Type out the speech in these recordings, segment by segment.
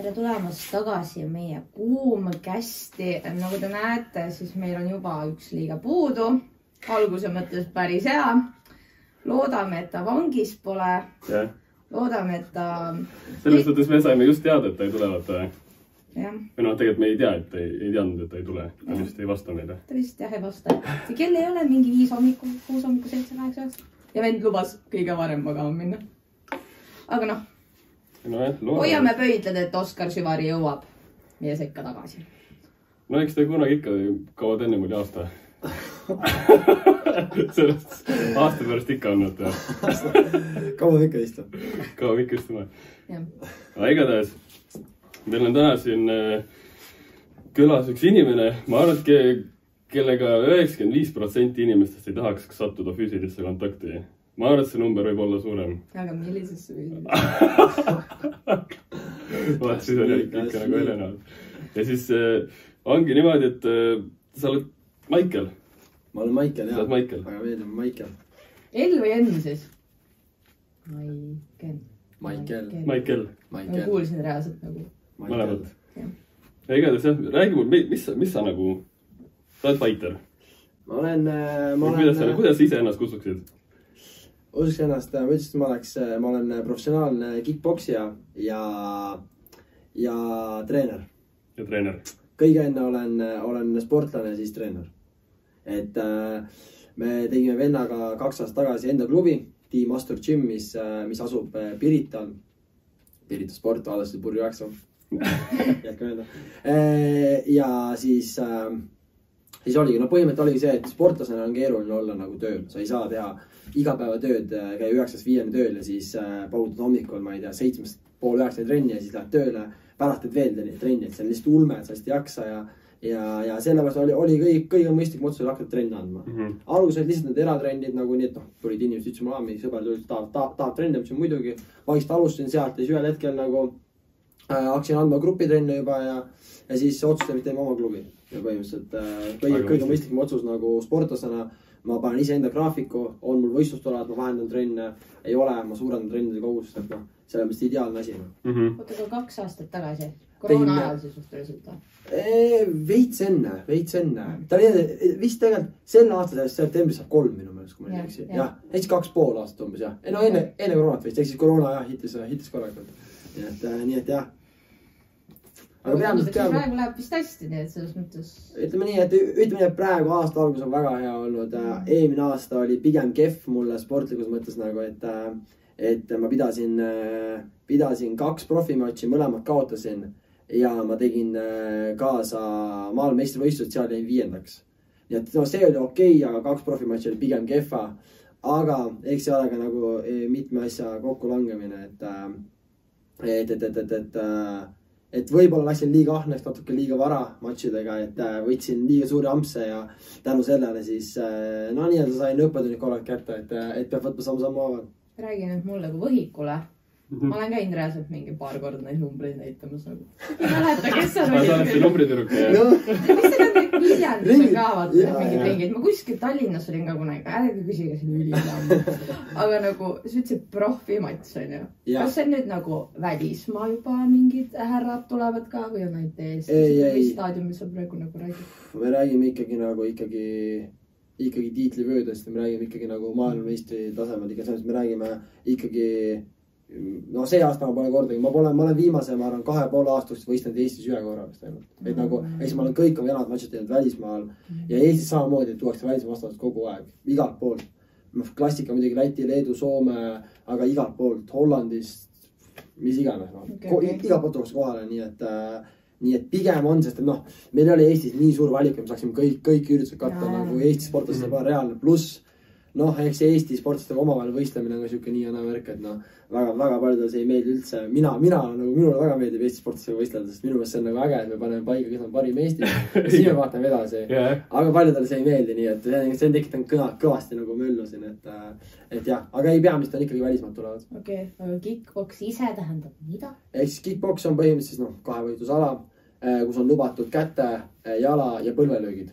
Tere tulemast tagasi meie kuuma kästi. Nagu te näete, siis meil on juba üks liiga puudu. Alguse mõttes päris hea. Loodame, et ta vangis pole. Loodame, et ta... Selles mõttes me saime just teada, et ta ei tule vaata. Jah. Või noh, tegelikult me ei tea, et ei teadnud, et ta ei tule. Ta vist ei vasta meile. Ta vist jah ei vasta. See kell ei ole mingi 5 hommiku, 6 hommiku, 7-8. Ja vend lubas kõige varem magama minna. Aga noh. Hoiame pöidled, et Oskar Süvari jõuab meie sekka tagasi. No eks ta kunagi ikka kauad enne mul aasta. Sellest aasta pärast ikka on. Kauad ikka istub. Kauad ikka istuma. Aga igatahes, meil on täna siin külas üks inimene. Ma arvan, et kellega 95% inimestest ei tahaks sattuda füüsilisse kontakti. Ma arvan, et see number võib olla suurem. Aga millisesse füüsilisse? Vaat siis on ikka nagu Helena. Ja siis ongi niimoodi, et sa oled Maicel. Ma olen Maicel, jah. Sa oled Maicel. Väga meeldib Maicel. L või N siis? Maicel. Ma kuulsin reaalselt nagu. Mõlemad. Ja igatahes jah, räägi mul, mis sa nagu, sa oled fighter. Ma olen... Kuidas sa ise ennast kutsuksid? Usuks ennast, ma ütlesin, et ma olen professionaalne kickboksija ja treener. Ja treener. Kõige enne olen sportlane, siis treener. Et me tegime vennaga 2 aastat tagasi enda klubi, Team Astur Gym, mis asub Pirital. Pirita sport, vaadasid Purju 9. Jätke meelde. Ja siis oligi, põhimõtteliselt oligi see, et sportlasena on keeruline olla nagu tööl. Sa ei saa teha igapäevatööd, käi 9-5 tööl ja siis pautad hommikul, ma ei tea, 7:30 trenni ja siis lähed tööle, pärast teed veel trenni, et see on lihtsalt ulme, et sa lihtsalt ei jaksa ja sellepärast oli kõige mõistlik otsus hakata trenni andma. Alguses olid lihtsalt need eratrennid nagu nii, et tulid inimesed, ütlesin mulle, sõber tulid, tahab trenni, mis on muidugi. Vaikselt alustasin sealt ja siis ühel hetkel nagu hakkasin andma grupitrenne juba ja siis otsustasin, et teeme oma klubi. Ja põhimõtteliselt kõige mõistlikum otsus nagu sportlasena. Ma panen ise enda graafiku, on mul võistlustolad, ma vahendan trenne, ei ole, ma suurendan trennide kogust, et sellepärast ideaalne asi. Oota, kui 2 aastat tagasi, koroona ajal siis suhteliselt? Veits enne. Ta vist tegelikult selle aasta septembris saab 3 minu meelest, kui ma ei teksi. Jah, näiteks 2,5 aastat umbes, jah. No enne koroonat vist, eks siis koroona jah, hitis korrakult. Nii et jah. Aga praegu läheb vist hästi, nii et selles mõttes... Ütleme nii, et praegu aasta algus on väga hea olnud. Eelmine aasta oli pigem kehv mulle sportlikus mõttes nagu, et ma pidasin 2 profimatši, mõlemad kaotasin ja ma tegin kaasa maailmameistrivõistlused, seal jäin 5. Nii et see oli okei, aga 2 profimatši oli pigem kehva. Aga eks see ole ka nagu mitme asja kokku langemine, et võib-olla läksin liiga ahneks, natuke liiga vara matšidega, et võtsin liiga suuri ampse ja tänu sellele siis nii-öelda sain õppetunni korralt kätte, et peab võtma samm haaval. Räägi nüüd mulle kui võhikule. Ma olen käinud reaalselt mingi paar korda neid numbreid näitamas nagu. Ei mäleta, kes on oli. Ma olen see numbritüruk. Mis see on need Viljandis ka vaata mingid ringid. Ma kuskil Tallinnas olin ka kunagi. Ärge küsige selle ülilamm. Aga nagu, sa ütlesid profimats on ju. Kas see nüüd nagu välismaa juba mingid härrad tulevad ka või on ainult Eesti? Või staadiumil sa praegu nagu räägid? Me räägime ikkagi tiitlivöödest ja me räägime ikkagi nagu maailmameistri tasemel. Me räägime ikkagi... No see aasta ma pole kordagi, ma olen viimase, ma arvan, 2,5 aastast võistlenud Eestis ühe korra vist ainult. Et nagu, eks ma olen kõik venad matšid teinud välismaal ja Eestis samamoodi, et tuuakse välismaa vastavalt kogu aeg, igalt poolt. Klassika muidugi Läti, Leedu, Soome, aga igalt poolt, Hollandist, mis iganes. Igalt poolt tuuakse kohale, nii et pigem on, sest meil ei ole Eestis nii suur valik, et me saaksime kõik üritused katta nagu Eesti sportlased pole reaalne pluss. Eks Eesti sportlastega omavahel võistlemine on ka siuke nii ja värk, et väga paljudele see ei meeldi üldse. Minule väga meeldib Eesti sportlastega võistelda, sest minu meelest see on nagu äge, et me paneme paika, kes on parim Eestis. Siis me vaatame edasi. Aga paljudele see ei meeldi, nii et see on tekitanud kõvasti nagu möllu siin, et jah. Aga ei peamist on ikkagi välismaad tulevad. Okei, aga kickboks ise tähendab mida? Eks kickboks on põhimõtteliselt 2-võitlusala, kus on lubatud käte, jala ja põlvelöögid.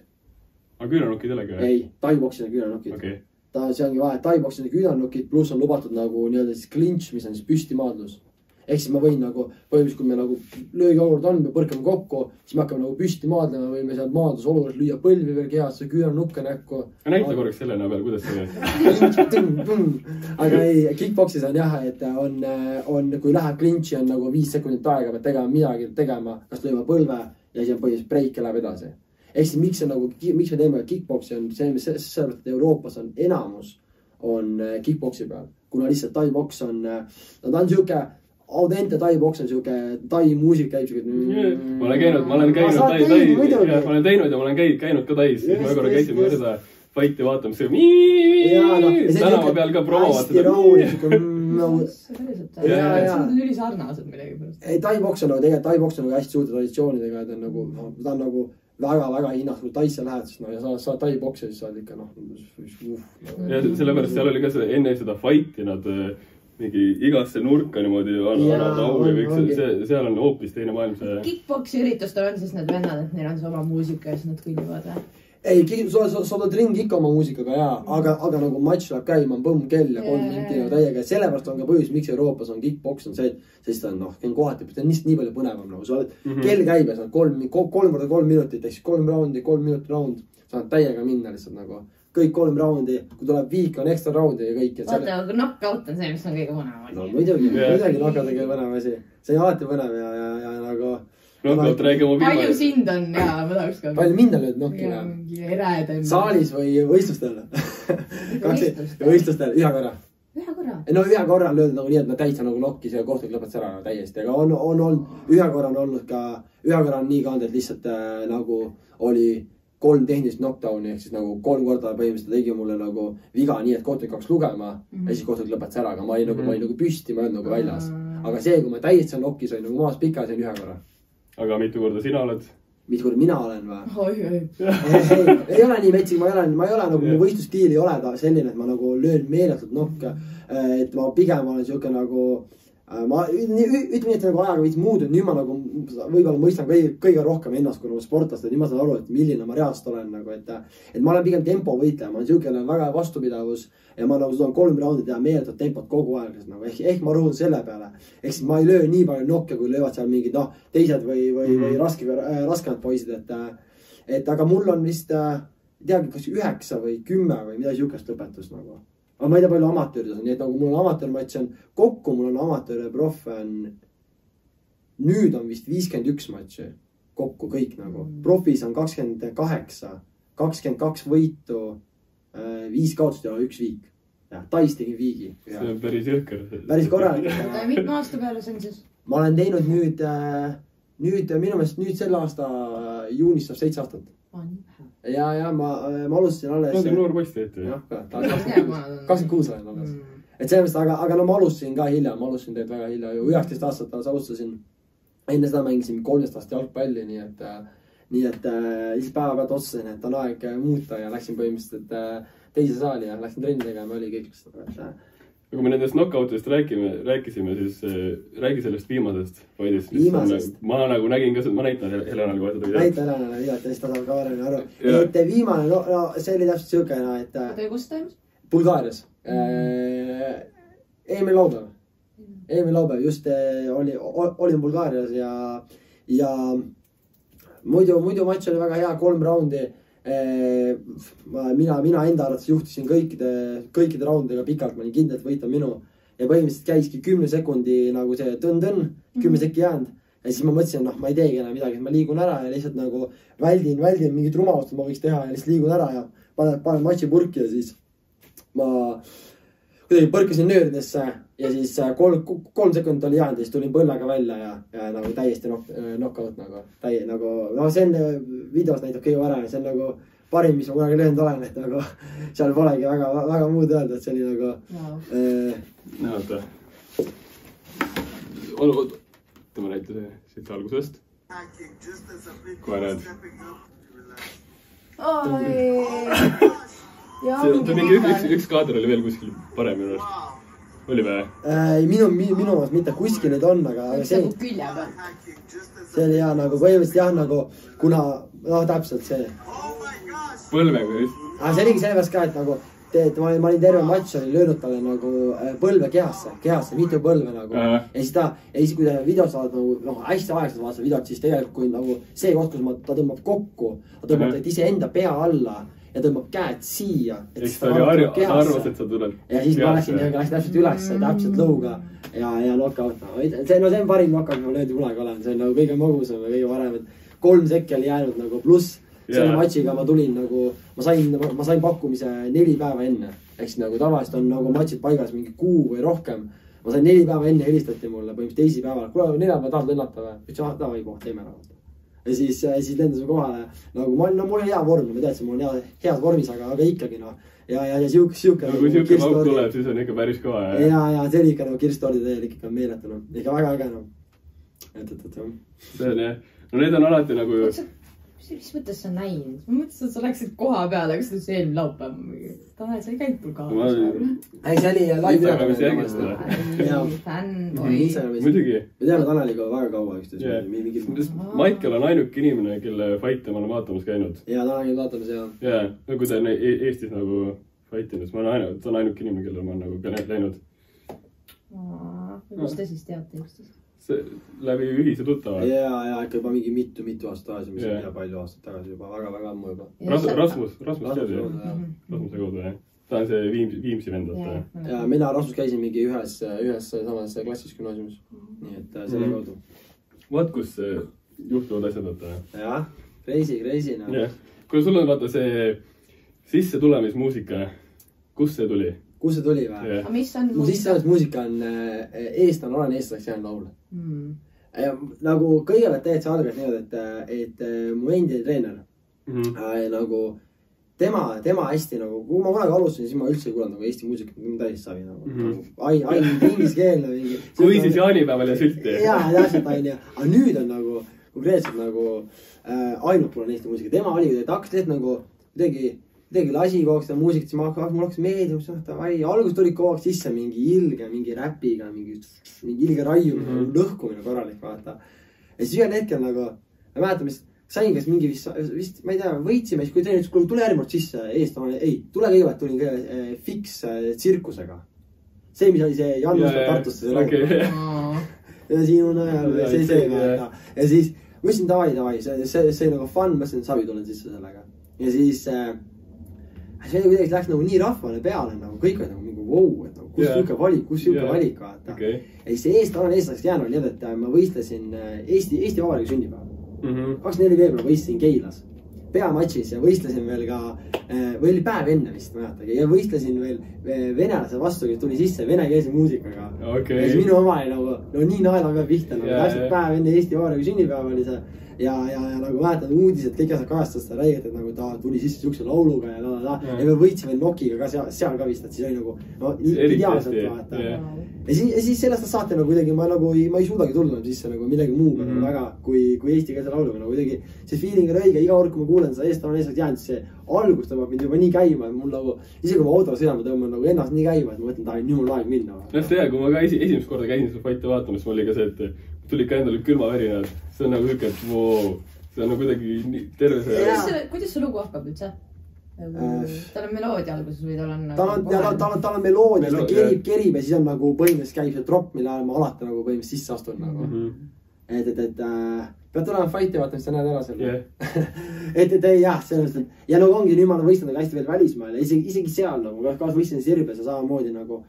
Aga küünanukid jällegi? Ei, taiboksid on küünanukid. See ongi vahe, taiboksid on küünanukid, pluss on lubatud nagu nii-öelda siis clinch, mis on siis püstimaadlus. ehk siis ma võin nagu, põhimõtteliselt kui me nagu löögiolukord on, me põrkame kokku, siis me hakkame nagu püsti maadlema, võime seal maadluse olukorras lüüa põlvi veel kehasse, küüra nukke näkku. Näita korraks Helena peal, kuidas see aga ei, kickboksis on jah, et on, kui läheb klinši, on nagu 5 sekundit aega, pead tegema midagi tegema, kas lööma põlve ja siis on põhimõtteliselt breik ja läheb edasi. Ehk siis miks me teeme kickboksi on see, sellepärast, et Euroopas on enamus on kickboksi peal, kuna lihtsalt tai-boks on, ta on siuke audente tai-boks on siuke, tai-muusik käib siuke. Ma olen käinud ja ma olen käinud ka tais. Ma korra käisime võrda fighti vaatamas. Tänava peal ka promovad seda. See on ülisarnased midagi pärast. Ei, tai-boks on tegelikult, tai-boks on hästi suurte traditsioonidega, ta on nagu väga hinnas, kui taisse lähed, siis ja sa tai-boksi, siis sa oled ikka ja sellepärast seal oli ka enne seda fighti nad mingi igasse nurka niimoodi annavad au ja kõik seal on hoopis teine maailm see. Kickboksi üritustel on siis need vennad, et neil on see oma muusika ja siis nad kõnnivad või? Ei, sa oled ringi ikka oma muusikaga jaa, aga nagu matš läheb käima, põmm kell ja 3 minti täiega. Sellepärast on ka põhjus, miks Euroopas on kickboks on see, sest ta on kohati, ta on nii palju põnevam nagu. Sa oled kell käib ja sa oled 3 minutit, ehk siis 3 raundi, 3 minutit raund. Sa oled täiega minna lihtsalt nagu. Kõik 3 raundi, kui tuleb viik, on ekstra raundi ja kõik. Vaata, aga knockout on see, mis on kõige põnev. No muidugi knockout on kõige põnev asi. See on alati põnev ja nagu knockout räägime palju sind on ja ma tahaks ka. Palju mind on lööd nokkina? Saalis või võistlustel? Võistlustel, ühe korra. No ühe korra on löödud nagu nii, et ma täitsa nagu nokkis ja kohtud lõpetas ära täiesti. Aga on olnud, ühe korra on olnud ka, ühe korra on nii ka olnud, et lihtsalt nagu oli 3 tehnilist knockdowni, ehk siis nagu 3 korda põhimõtteliselt tegi mulle nagu viga nii, et kohtud kaks lugema ja siis kohtud lõpetas ära, aga ma olin nagu püsti, ma olin nagu väljas. Aga see, kui ma täiesti nokkis olin nagu maas pika, see on ühe korra. Aga mitu korda sina oled? Mitu korda mina olen või? Ei ole nii metsik, ma ei ole nagu, mu võistlustiil ei ole ta selline, et ma nagu löön meeletult nokka. Et ma pigem olen siuke nagu, ütleme nii, et nagu ajaga veits muutunud, nüüd ma nagu võib-olla mõistan kõige rohkem ennast kui nagu sportlast, et nüüd ma saan aru, et milline ma reaalselt olen nagu, et ma olen pigem tempo võitleja, ma olen siuke väga vastupidavus ja ma nagu suudan 3 raundi teha meeletult tempot kogu aeg, nagu, ehk ma rõhun selle peale, ehk siis ma ei löö nii palju nokke, kui löövad seal mingid teised või raskemad poisid, et aga mul on vist, teagi, kas 9 või 10 või midagi siukest lõpetust nagu. Aga ma ei tea palju amatöörides on, nii et nagu mul on amatöörmatš on kokku, mul on amatöör ja proff on, nüüd on vist 51 matši kokku kõik nagu. Profis on 28, 22 võitu, 5 kaotust ja 1 viik. Ja, tais tegin viigi. See on päris jõhker. Päris korralik. Mitme aasta peale see on siis? Ma olen teinud nüüd minu meelest nüüd selle aasta juunis saab 7 aastat. Ja ma alustasin alles. No, noor poiss teete. Jah, 26 olen alles. Et sellest, aga no ma alustasin ka hilja, ma alustasin teed väga hilja. 19 aastat alles alustasin. Enne seda mängisin 13 aastat jalgpalli, nii et siis päeva pealt otsustasin, et on aeg muuta ja läksin põhimõtteliselt teise saali ja läksin trenni tegema ja oli kõik. Kui me nendest knockoutidest rääkisime, siis räägi sellest viimasest. Viimasest? Ma nagu nägin ka, ma näitan Helenale kohe seda. Näita Helenale viivat ja siis ta saab ka varemini aru. Et viimane, no see oli täpselt siuke, et... Oota, kus toimus? Bulgaarias. Eelmine laupäev just olin Bulgaarias ja muidu matš oli väga hea, 3 raundi. Mina enda arvates juhtisin kõikide raundidega pikalt, ma olin kindlalt võita minu ja põhimõtteliselt käiski 10 sekundi nagu see tõn-tõn, 10 sekki jäänud ja siis ma mõtlesin, ma ei teegi enam midagi, ma liigun ära ja lihtsalt nagu väldin mingit rumalust, ma võiks teha ja lihtsalt liigun ära ja panen matši purki ja siis ma kuidagi põrkasin nööridesse ja siis 3 sekundit oli jäänud ja siis tulin põllega välja ja nagu täiesti knockout nagu. No see on videos näitab kõige varem, see on nagu parim, mis ma kunagi löönud olen, et nagu seal polegi väga muud öelda, et see oli nagu... Näota. Võtame näite siit algusest. Kohe näed. Üks kaader oli veel kuskil parem minu arust. Oli või? Minu maas mitte kuskil need on, aga see... Külje peal. See oli jah, nagu põhimõtteliselt jah, nagu kuna... täpselt see. Põlvega. See oligi sellepärast ka, et nagu ma olin terve matš, olin löönud talle nagu põlve kehasse, mitu põlve nagu. Ja siis kui ta videos saad nagu hästi aeglaselt vaatad videot, siis tegelikult kui nagu see koht, kus ta tõmbab kokku, ta tõmbab ise enda pea alla ja tõmbab käed siia. Eks ta oli arvas, et sa tuled. Ja siis ma läksin täpselt üles, täpselt lõuga ja knockout. See on parim knockout, ma löödi kunagi olen. See on nagu kõige magusam ja kõige varem, et 3 sekki oli jäänud nagu pluss. Selle matšiga ma tulin nagu, ma sain pakkumise 4 päeva enne. Eks nagu tavaliselt on nagu matšid paigas mingi kuu või rohkem. Ma sain 4 päeva enne helistati mulle, põhimõtteliselt teisi päeval. Kuule, 4 päeva tahad lennata või? Ütlesin, davai koht, teeme ära. Ja siis lendasime kohale. Nagu mul on hea vorm, ma teadsin, mul on heas vormis, aga ikkagi no. Ja siuke. Kui siuke lauk tuleb, siis on ikka päris koha. Ja see oli ikka nagu Kirstoordi teel ikka meeletu. No. Ikka väga äge no. See on jah. No need on alati nagu ju... Mis mõttes sa näinud? Ma mõtlesin, et sa läksid koha peale, kas see eelmine laupäev? Tanel, sa ei käinud mul kaasas. Ei, see oli live fänn. Muidugi. Me teame Taneliga väga kaua üksteist. Maicel on ainuke inimene, kelle fighte ma olen vaatamas käinud. Ja Taneliga vaatamas, jah. Ja, no kui ta on Eestis nagu fightinud, ta on ainuke inimene, kelle ma olen nagu ka läinud. Kus te siis teate üksteist? Läbi ühise tuttava. Ja ikka juba mingi mitu aastat tagasi, mis on palju aastat tagasi juba, väga ammu juba. Rasmus tead ju. Rasmuse kaudu, jah. Ta on see Viimsi vendata. Ja mina Rasmus käisin mingi ühes samas klassis gümnaasiumis. Nii et selle kaudu. Vaat, kus juhtuvad asjad võtta. Jah, crazy. Kui sul on vaata see sissetulemismuusika, kus see tuli? Kus see tuli või? Mu sissetulemismuusika on eestlane, olen eestlaseks jäänud laul. Nagu kõigepealt teed see algas niimoodi, et mu endi treener nagu tema hästi nagu, kui ma kunagi alustasin, siis ma üldse ei kuulanud nagu Eesti muusikat, ma täiesti savi nagu ainult ingliskeelne mingi. Kui siis jaanipäeval ja sülti. Jaa, täpselt aine. Aga nüüd on nagu konkreetselt nagu ainult kuulen Eesti muusika. Tema oli, et hakkas teed nagu kuidagi lasi kogu seda muusikat, siis mul hakkas meeldima, algus tuli kogu aeg sisse mingi ilge, mingi räpiga, mingi ilge raiumine, lõhkumine korralik, vaata. Ja siis ühel hetkel nagu, ma mäletan, mis sain kas mingi vist, ma ei tea, võitsime, siis kui treener ütles, kuule, tule järgmine sisse eestlane, ei, tule kõigepealt, tulin kõige Fix tsirkusega. See, mis oli see Jan Usta Tartusse see laul. Ja siin on ajal, see vaata. Ja siis, ma ütlesin, davai, see nagu fun, ma ütlesin, savi tulen sisse sellega. Ja siis see kuidagi läks nagu nii rahvale peale, nagu kõik oli nagu mingi wow, et nagu kus siuke valik vaata. Ja siis see eestlaseks jäänud nii, et ma võistlesin Eesti Vabariigi sünnipäeval. 24. veebruar võistlesin Keilas peamatšis ja võistlesin veel ka, või oli päev enne vist, ma mäletagi, ja võistlesin veel venelase vastu, kes tuli sisse venekeelse muusikaga. Ja siis minu oma oli nagu nii naela peab pihta, nagu täpselt päev enne Eesti Vabariigi sünnipäev oli see. Ja nagu mäletad uudised, kõik asjad kajastas seda räiget, et nagu ta tuli sisse siukse lauluga ja me võitsime Nokiga ka seal ka vist, et siis oli nagu ideaalselt vaata. Ja siis sellest saate nagu kuidagi, ma ei suudagi tulla sisse nagu millegi muuga väga kui eesti keelse lauluga, nagu kuidagi see feeling on õige, iga kord kui ma kuulen seda eestlane eestlaseks jäänud, siis see algus tõmbab mind juba nii käima, et mul nagu, isegi kui ma autoga sõidama tõmban nagu ennast nii käima, et ma mõtlen, et nüüd mul aeg minna. See kui ma ka esimest korda käisin seda fighti vaatamas, mul oli ka see, et tulid ka endale külmavärinad, see on nagu hüke, et see on nagu kuidagi terve see... Kuidas see lugu hakkab üldse? Tal on meloodia alguses või tal on... Tal on meloodia, ta kerib ja siis on nagu põhimõtteliselt käib see drop, mille ajal ma alati nagu põhimõtteliselt sisse astun nagu. Et pead tulema fighti vaatama, siis sa näed ära selle. Et jah, sellest, et ja nagu ongi, nüüd ma olen võistanud hästi veel välismaal ja isegi seal nagu, kaas võistlesin Serbias ja samamoodi nagu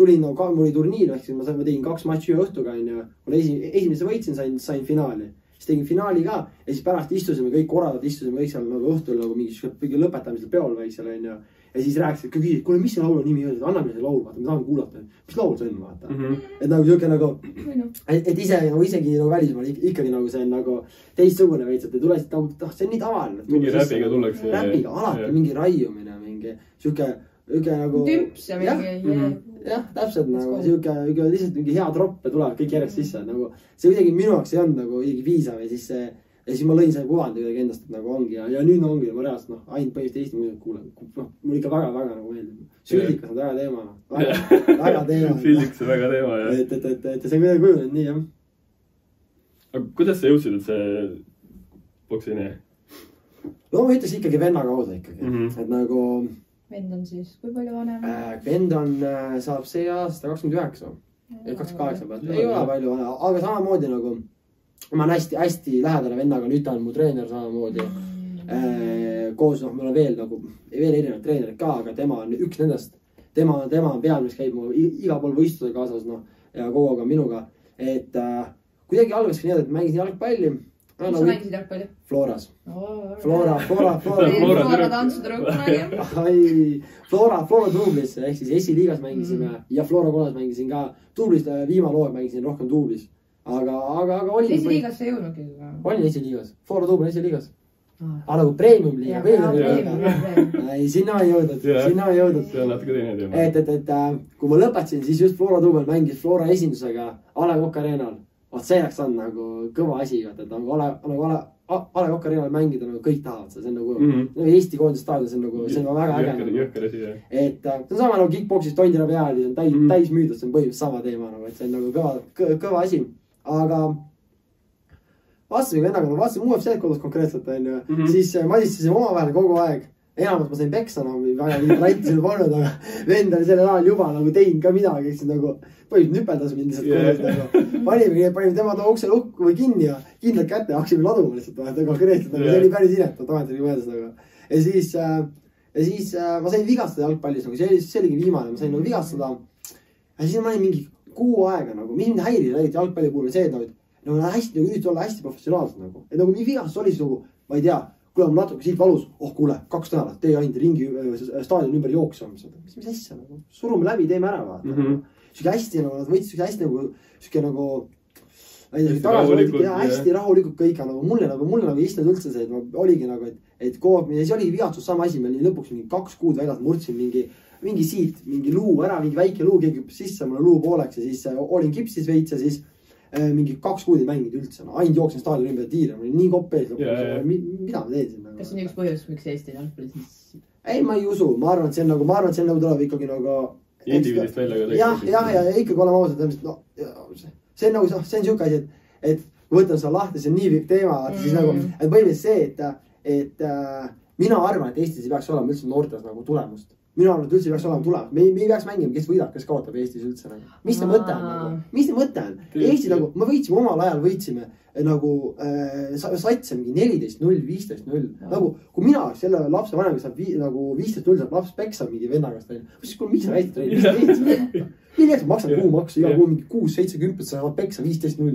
tulin nagu, mul oli turniir, ehk siis ma tegin 2 matši ühe õhtuga, esimese võitsin, sain finaali. Siis tegin finaali ka ja siis pärast istusime kõik korraldad, istusime kõik seal nagu õhtul nagu mingi lõpetamisel peol väiksel on ja siis rääkisid, küsid, kuule, mis see laulu nimi on, anna meile see laul, vaata, me tahame kuulata, mis laul see on, vaata. Et nagu siuke nagu, et isegi nagu välismaal ikkagi nagu see on nagu teistsugune veits, et te tulesid nagu, see on nii tavaline. Mingi räpiga tullakse. Räpiga, alati mingi raiumine, mingi siuke nagu... Tümps ja mingi... Jah, täpselt nagu siuke lihtsalt mingi hea tropp ja tulevad kõik järjest sisse. Nagu, see kuidagi minu jaoks ei olnud nagu kuidagi piisav ja siis ma lõin selle kuvandi kuidagi endast, et nagu ongi ja nüüd ongi, ma reaalselt ainult põhimõtteliselt Eesti muusikat kuulen. Mul ikka väga nagu meeldib. Süldikas on väga teema. Väga teema. Süldikas on väga teema, jah. Et see on kuidagi kujunenud nii, jah. Aga kuidas sa jõudsid, et see boksini? No ma ütles ikkagi venna kaudu ikkagi. Et nagu vend on siis, kui palju vanem? Vend on, saab see aasta 29. 28 pealt. Ei ole palju vanem, aga samamoodi nagu ma olen hästi lähedane vennaga, nüüd ta on mu treener samamoodi. Koos, noh, mul on veel erinevad treenerid ka, aga tema on üks nendest. Tema on peal, mis käib mu iga pool võistluse kaasas, noh, ja kogu aeg on minuga. Et kuidagi algas ka nii, et mängisin jalgpalli. Mis sa mängisid jalgpalli? Floras. Flora tantsutruukuna. Flora duublis, ehk siis esiliigas mängisime ja Flora kolas mängisin ka. Duublis viimalooga mängisin rohkem duublis. Aga olin... Esiliigas sa jõudnudki? Olin esiliigas. Flora duubel esiliigas. Aga nagu premium liiga. Ei, sinna ei jõudnud. See on natuke teine teema. Et kui ma lõpetasin, siis just Flora duubel mängis Flora esindusega A. Le Coq Arenal. See jääks on nagu kõva asi, et nagu A. Le Coq Arenal mängida nagu kõik tahavad. See on nagu Eesti koondise staadion, see on väga äge. Jõhker asi, jah. Et see on sama nagu kickboxis tondina peal, see on täis müüdud, see on põhimõtteliselt sama teema, et see on nagu kõva asi. Aga vaatasin vennaga, vaatasin UFC-d kodus konkreetselt, siis madistasime omavahel kogu aeg. Enamalt ma sain peksa, väga latti siin polnud, aga vend oli sellel ajal juba nagu teinud ka midagi, eks nagu põhimõtteliselt nüpeldas mind lihtsalt kodus. Panime tema ukse lukku või kinni ja kindlalt kätte ja haksime laduma lihtsalt konkreetselt. See oli päris inet, tagantjärgi mõeldes. Ja siis ma sain vigastada jalgpallis, see oligi viimane, ma sain vigastada. Ja siis ma olin mingi kuu aega, mis mind häirida jalgpalli puhul see, et üritada olla hästi professionaalselt. Et nagu nii vigastus oli siis ma ei tea, kui on natuke siit valus, kuule, 2 nädalat, tee ainult ringi staadioni ümber jooksma. Mis asja, surume läbi, teeme ära, vaata. Süke hästi, nad võtsid süke nagu, hästi rahulikult kõik, mulle ei istunud üldse see, et oligi nagu, et kogu aeg, see oligi vigastus sama asi, meil lõpuks mingi 2 kuud väljas murdsin mingi siit, mingi luu ära, mingi väike luu, keegi sisse mulle luu pooleks ja siis olin kipsis veits ja siis mingi 2 kuud ei mänginud üldse. Ainult jooksin staadioni ümber tiire, ma olin nii kopp ees. Mida ma teen siin? Kas see on üks põhjus, miks Eesti jalgpallis? Ei, ma ei usu. Ma arvan, et see on tuleb ikkagi nagu... Indiviidist välja ka tegemist. Ja ikkagi olema ausalt. See on siuke asi, et võtan seda lahti, see on nii pikk teema. Siis nagu, et põhimõtteliselt see, et mina arvan, et Eestis ei peaks olema üldse noortes nagu tulemust. Minu arvan, et üldse ei peaks olema tulemas. Me ei peaks mängima, kes võidab, kes kaotab Eestis üldse. Mis see mõte on? Mis see mõte on? Eesti nagu, me võitsime omal ajal, võitsime nagu satse mingi 14-0, 15-0. Nagu, kui mina selle lapse vanem, kes saab nagu 15-0, saab laps peksa mingi vennagast. Siis kui mis sa hästi treenid? Nii näiteks maksan kuumaksu, iga kuu mingi 6-7 saavad peksa 15-0.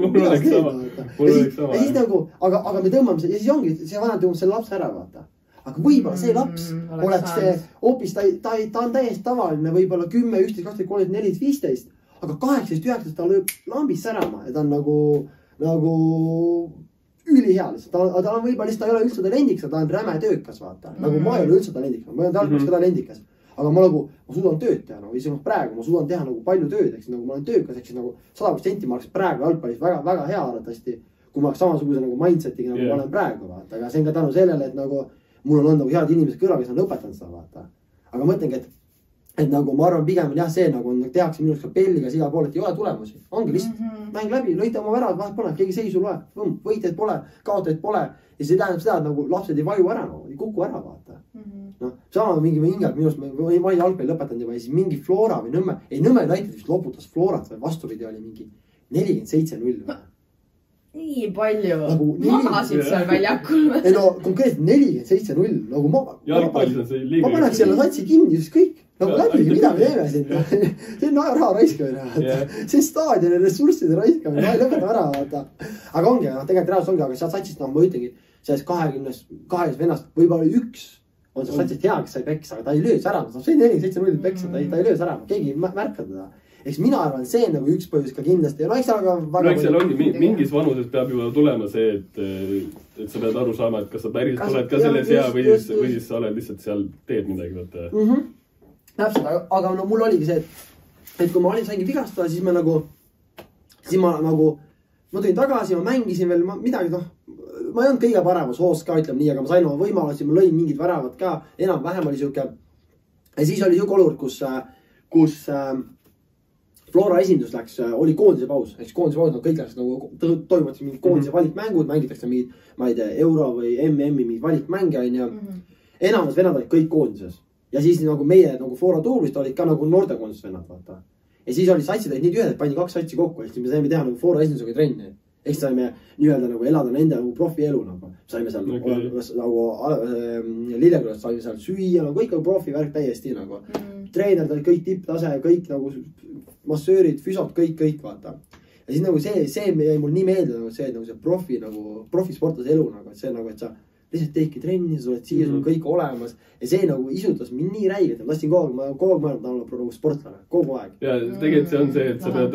Mul oleks sama. Ja siis nagu, aga me tõmbame see, ja siis ongi, see vanem tõmbab selle lapse ära, vaata. Aga võibolla see laps oleks see hoopis, ta on täiesti tavaline, võibolla 10, 11, 12, 13, 14, 15, aga 18, 19 ta lööb lambist särama ja ta on nagu ülihea lihtsalt. Ta on võibolla lihtsalt, ta ei ole üldse talendikas, ta on räme töökas, vaata. Nagu ma ei ole üldse talendikas, ma olen talpas ka talendikas. Aga ma suudan tööd teha, isegi praegu ma suudan teha nagu palju tööd, eks nagu ma olen töökas, eks nagu 100% ma oleks praegu jalgpallis väga, väga hea arvatavasti, kui ma oleks samasuguse nagu mindsetiga, nagu ma olen praegu, vaata. Aga see on ka tänu sellele, et nagu mul on olnud nagu head inimesed kõrval, kes on õpetanud seda, vaata. Aga mõtlengi, et nagu ma arvan pigem on jah see, nagu tehakse minust kapelliga siga pool, et ei ole tulemusi. Ongi lihtsalt mäng läbi, lõita oma väravad, vahet pole, keegi seisu loe, võitjaid pole, kaotajaid pole. Ja see tähendab seda, et nagu lapsed ei vaju ära, ei kuku ära, vaata. Sama mingi hingad minust, ma olin jalgpalli lõpetanud juba ja siis mingi Flora või Nõmme, ei Nõmme United vist loputas Florat või vastupidi oli mingi 47-0. Nii palju magasid seal väljakul. Ei no konkreetselt 47-0 nagu ma paneks selle satsi kinni, just kõik. Nagu läbigi, mida me teeme siin? See on raha raiskamine. See staadioni ressursside raiskamine, lõpetame ära, vaata. Aga ongi, tegelikult reaalsus ongi, aga sealt satsist, ma ütlengi, sellest 20 vennast võib-olla üks on see satsist hea, kes sai peksa, aga ta ei löös ära. See 47-0 peksa, ta ei löös ära, keegi ei märka teda. Eks mina arvan, see on nagu üks põhjus ka kindlasti. No eks seal ongi mingis vanuses peab juba tulema see, et sa pead aru saama, et kas sa päris oled ka selles hea või siis sa oled lihtsalt seal teed midagi. Täpselt, aga no mul oligi see, et kui ma saingi vigastada, siis ma tulin tagasi, ma mängisin veel midagi, ma ei olnud kõige paremas hoos ka, ütleme nii, aga ma sain oma võimalusi, ma lõin mingid väravad ka, enam-vähem oli siuke. Ja siis oli siuke olukord, kus Flora esindus läks, oli koondise paus, ehk koondise paus, kõik läks nagu toimuvad mingid koondise valikmängud, mängitakse mingid, ma ei tea, euro või MM-i mingid valikmänge, on ja enamus venad olid kõik koondises. ja siis nagu meie nagu Fora Tuulist olid ka nagu noortekoondis vennad, vaata. Ja siis olid satsid olid nii tühjad, et pandi 2 satsi kokku, siis me saime teha nagu Fora esindusega trenni. Ehk saime nii-öelda nagu elada nende nagu profielu nagu. Saime seal nagu Lillekülast saime seal süüa, nagu kõik nagu profivärk täiesti nagu. Treenerid olid kõik tipptase, kõik nagu massöörid, füsod, kõik vaata. Ja siis nagu see jäi mul nii meelde nagu see, et nagu see profisportlase elu nagu, et see nagu, et sa lihtsalt teedki trenni, sa oled siia, sul on kõik olemas. Ja see nagu isutas mind nii räigelt, et ma tahtsin kogu aeg mõelda nagu sportlane, kogu aeg. Ja tegelikult see on see, et sa pead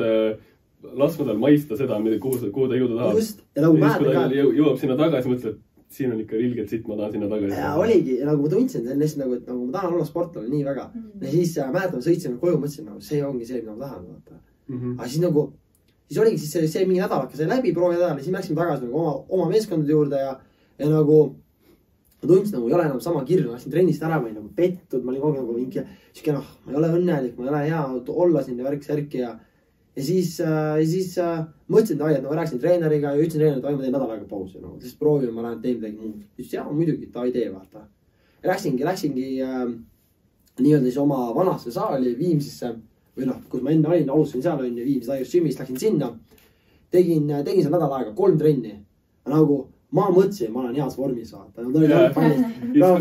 laskma tal maista seda, kuhu ta jõuda tahab. Just, ja nagu mäletan ka. Jõuab sinna tagasi, mõtled, et siin on ikka ilgelt sitt, ma tahan sinna tagasi. Ja oligi, ja nagu ma tundsin sellest nagu, et nagu ma tahan olla sportlane nii väga. Ja siis mäletan, sõitsime koju, mõtlesin nagu see ongi see, mida ma tahan. Aga siis nagu, siis oligi siis see mingi nädalaka sai läbi, proovi nädal, ja siis me läksime tagasi nagu oma meeskondade juurde ja nagu ma tundsin nagu, ei ole enam sama kirju, läksin trennist ära, ma olin nagu pettud, ma olin kogu nagu mingi, ma ei ole õnnelik, ma ei ole hea olla siin ja värk-särki ja siis mõtlesin, et ma rääkisin treeneriga ja ütlesin treeneriga, et ma teen nädal aega pausi, no, siis proovime, ma lähen teen midagi muud. Siis jaa, muidugi, ta ei tee, vaata. Läksingi nii-öelda siis oma vanasse saali Viimsisse või noh, kus ma enne olin, alustasin seal on Viimsi Tigers Gymist, läksin sinna. Tegin seal nädal aega 3 trenni. Nagu ma mõtlesin, ma olen heas vormis, vaata. Kui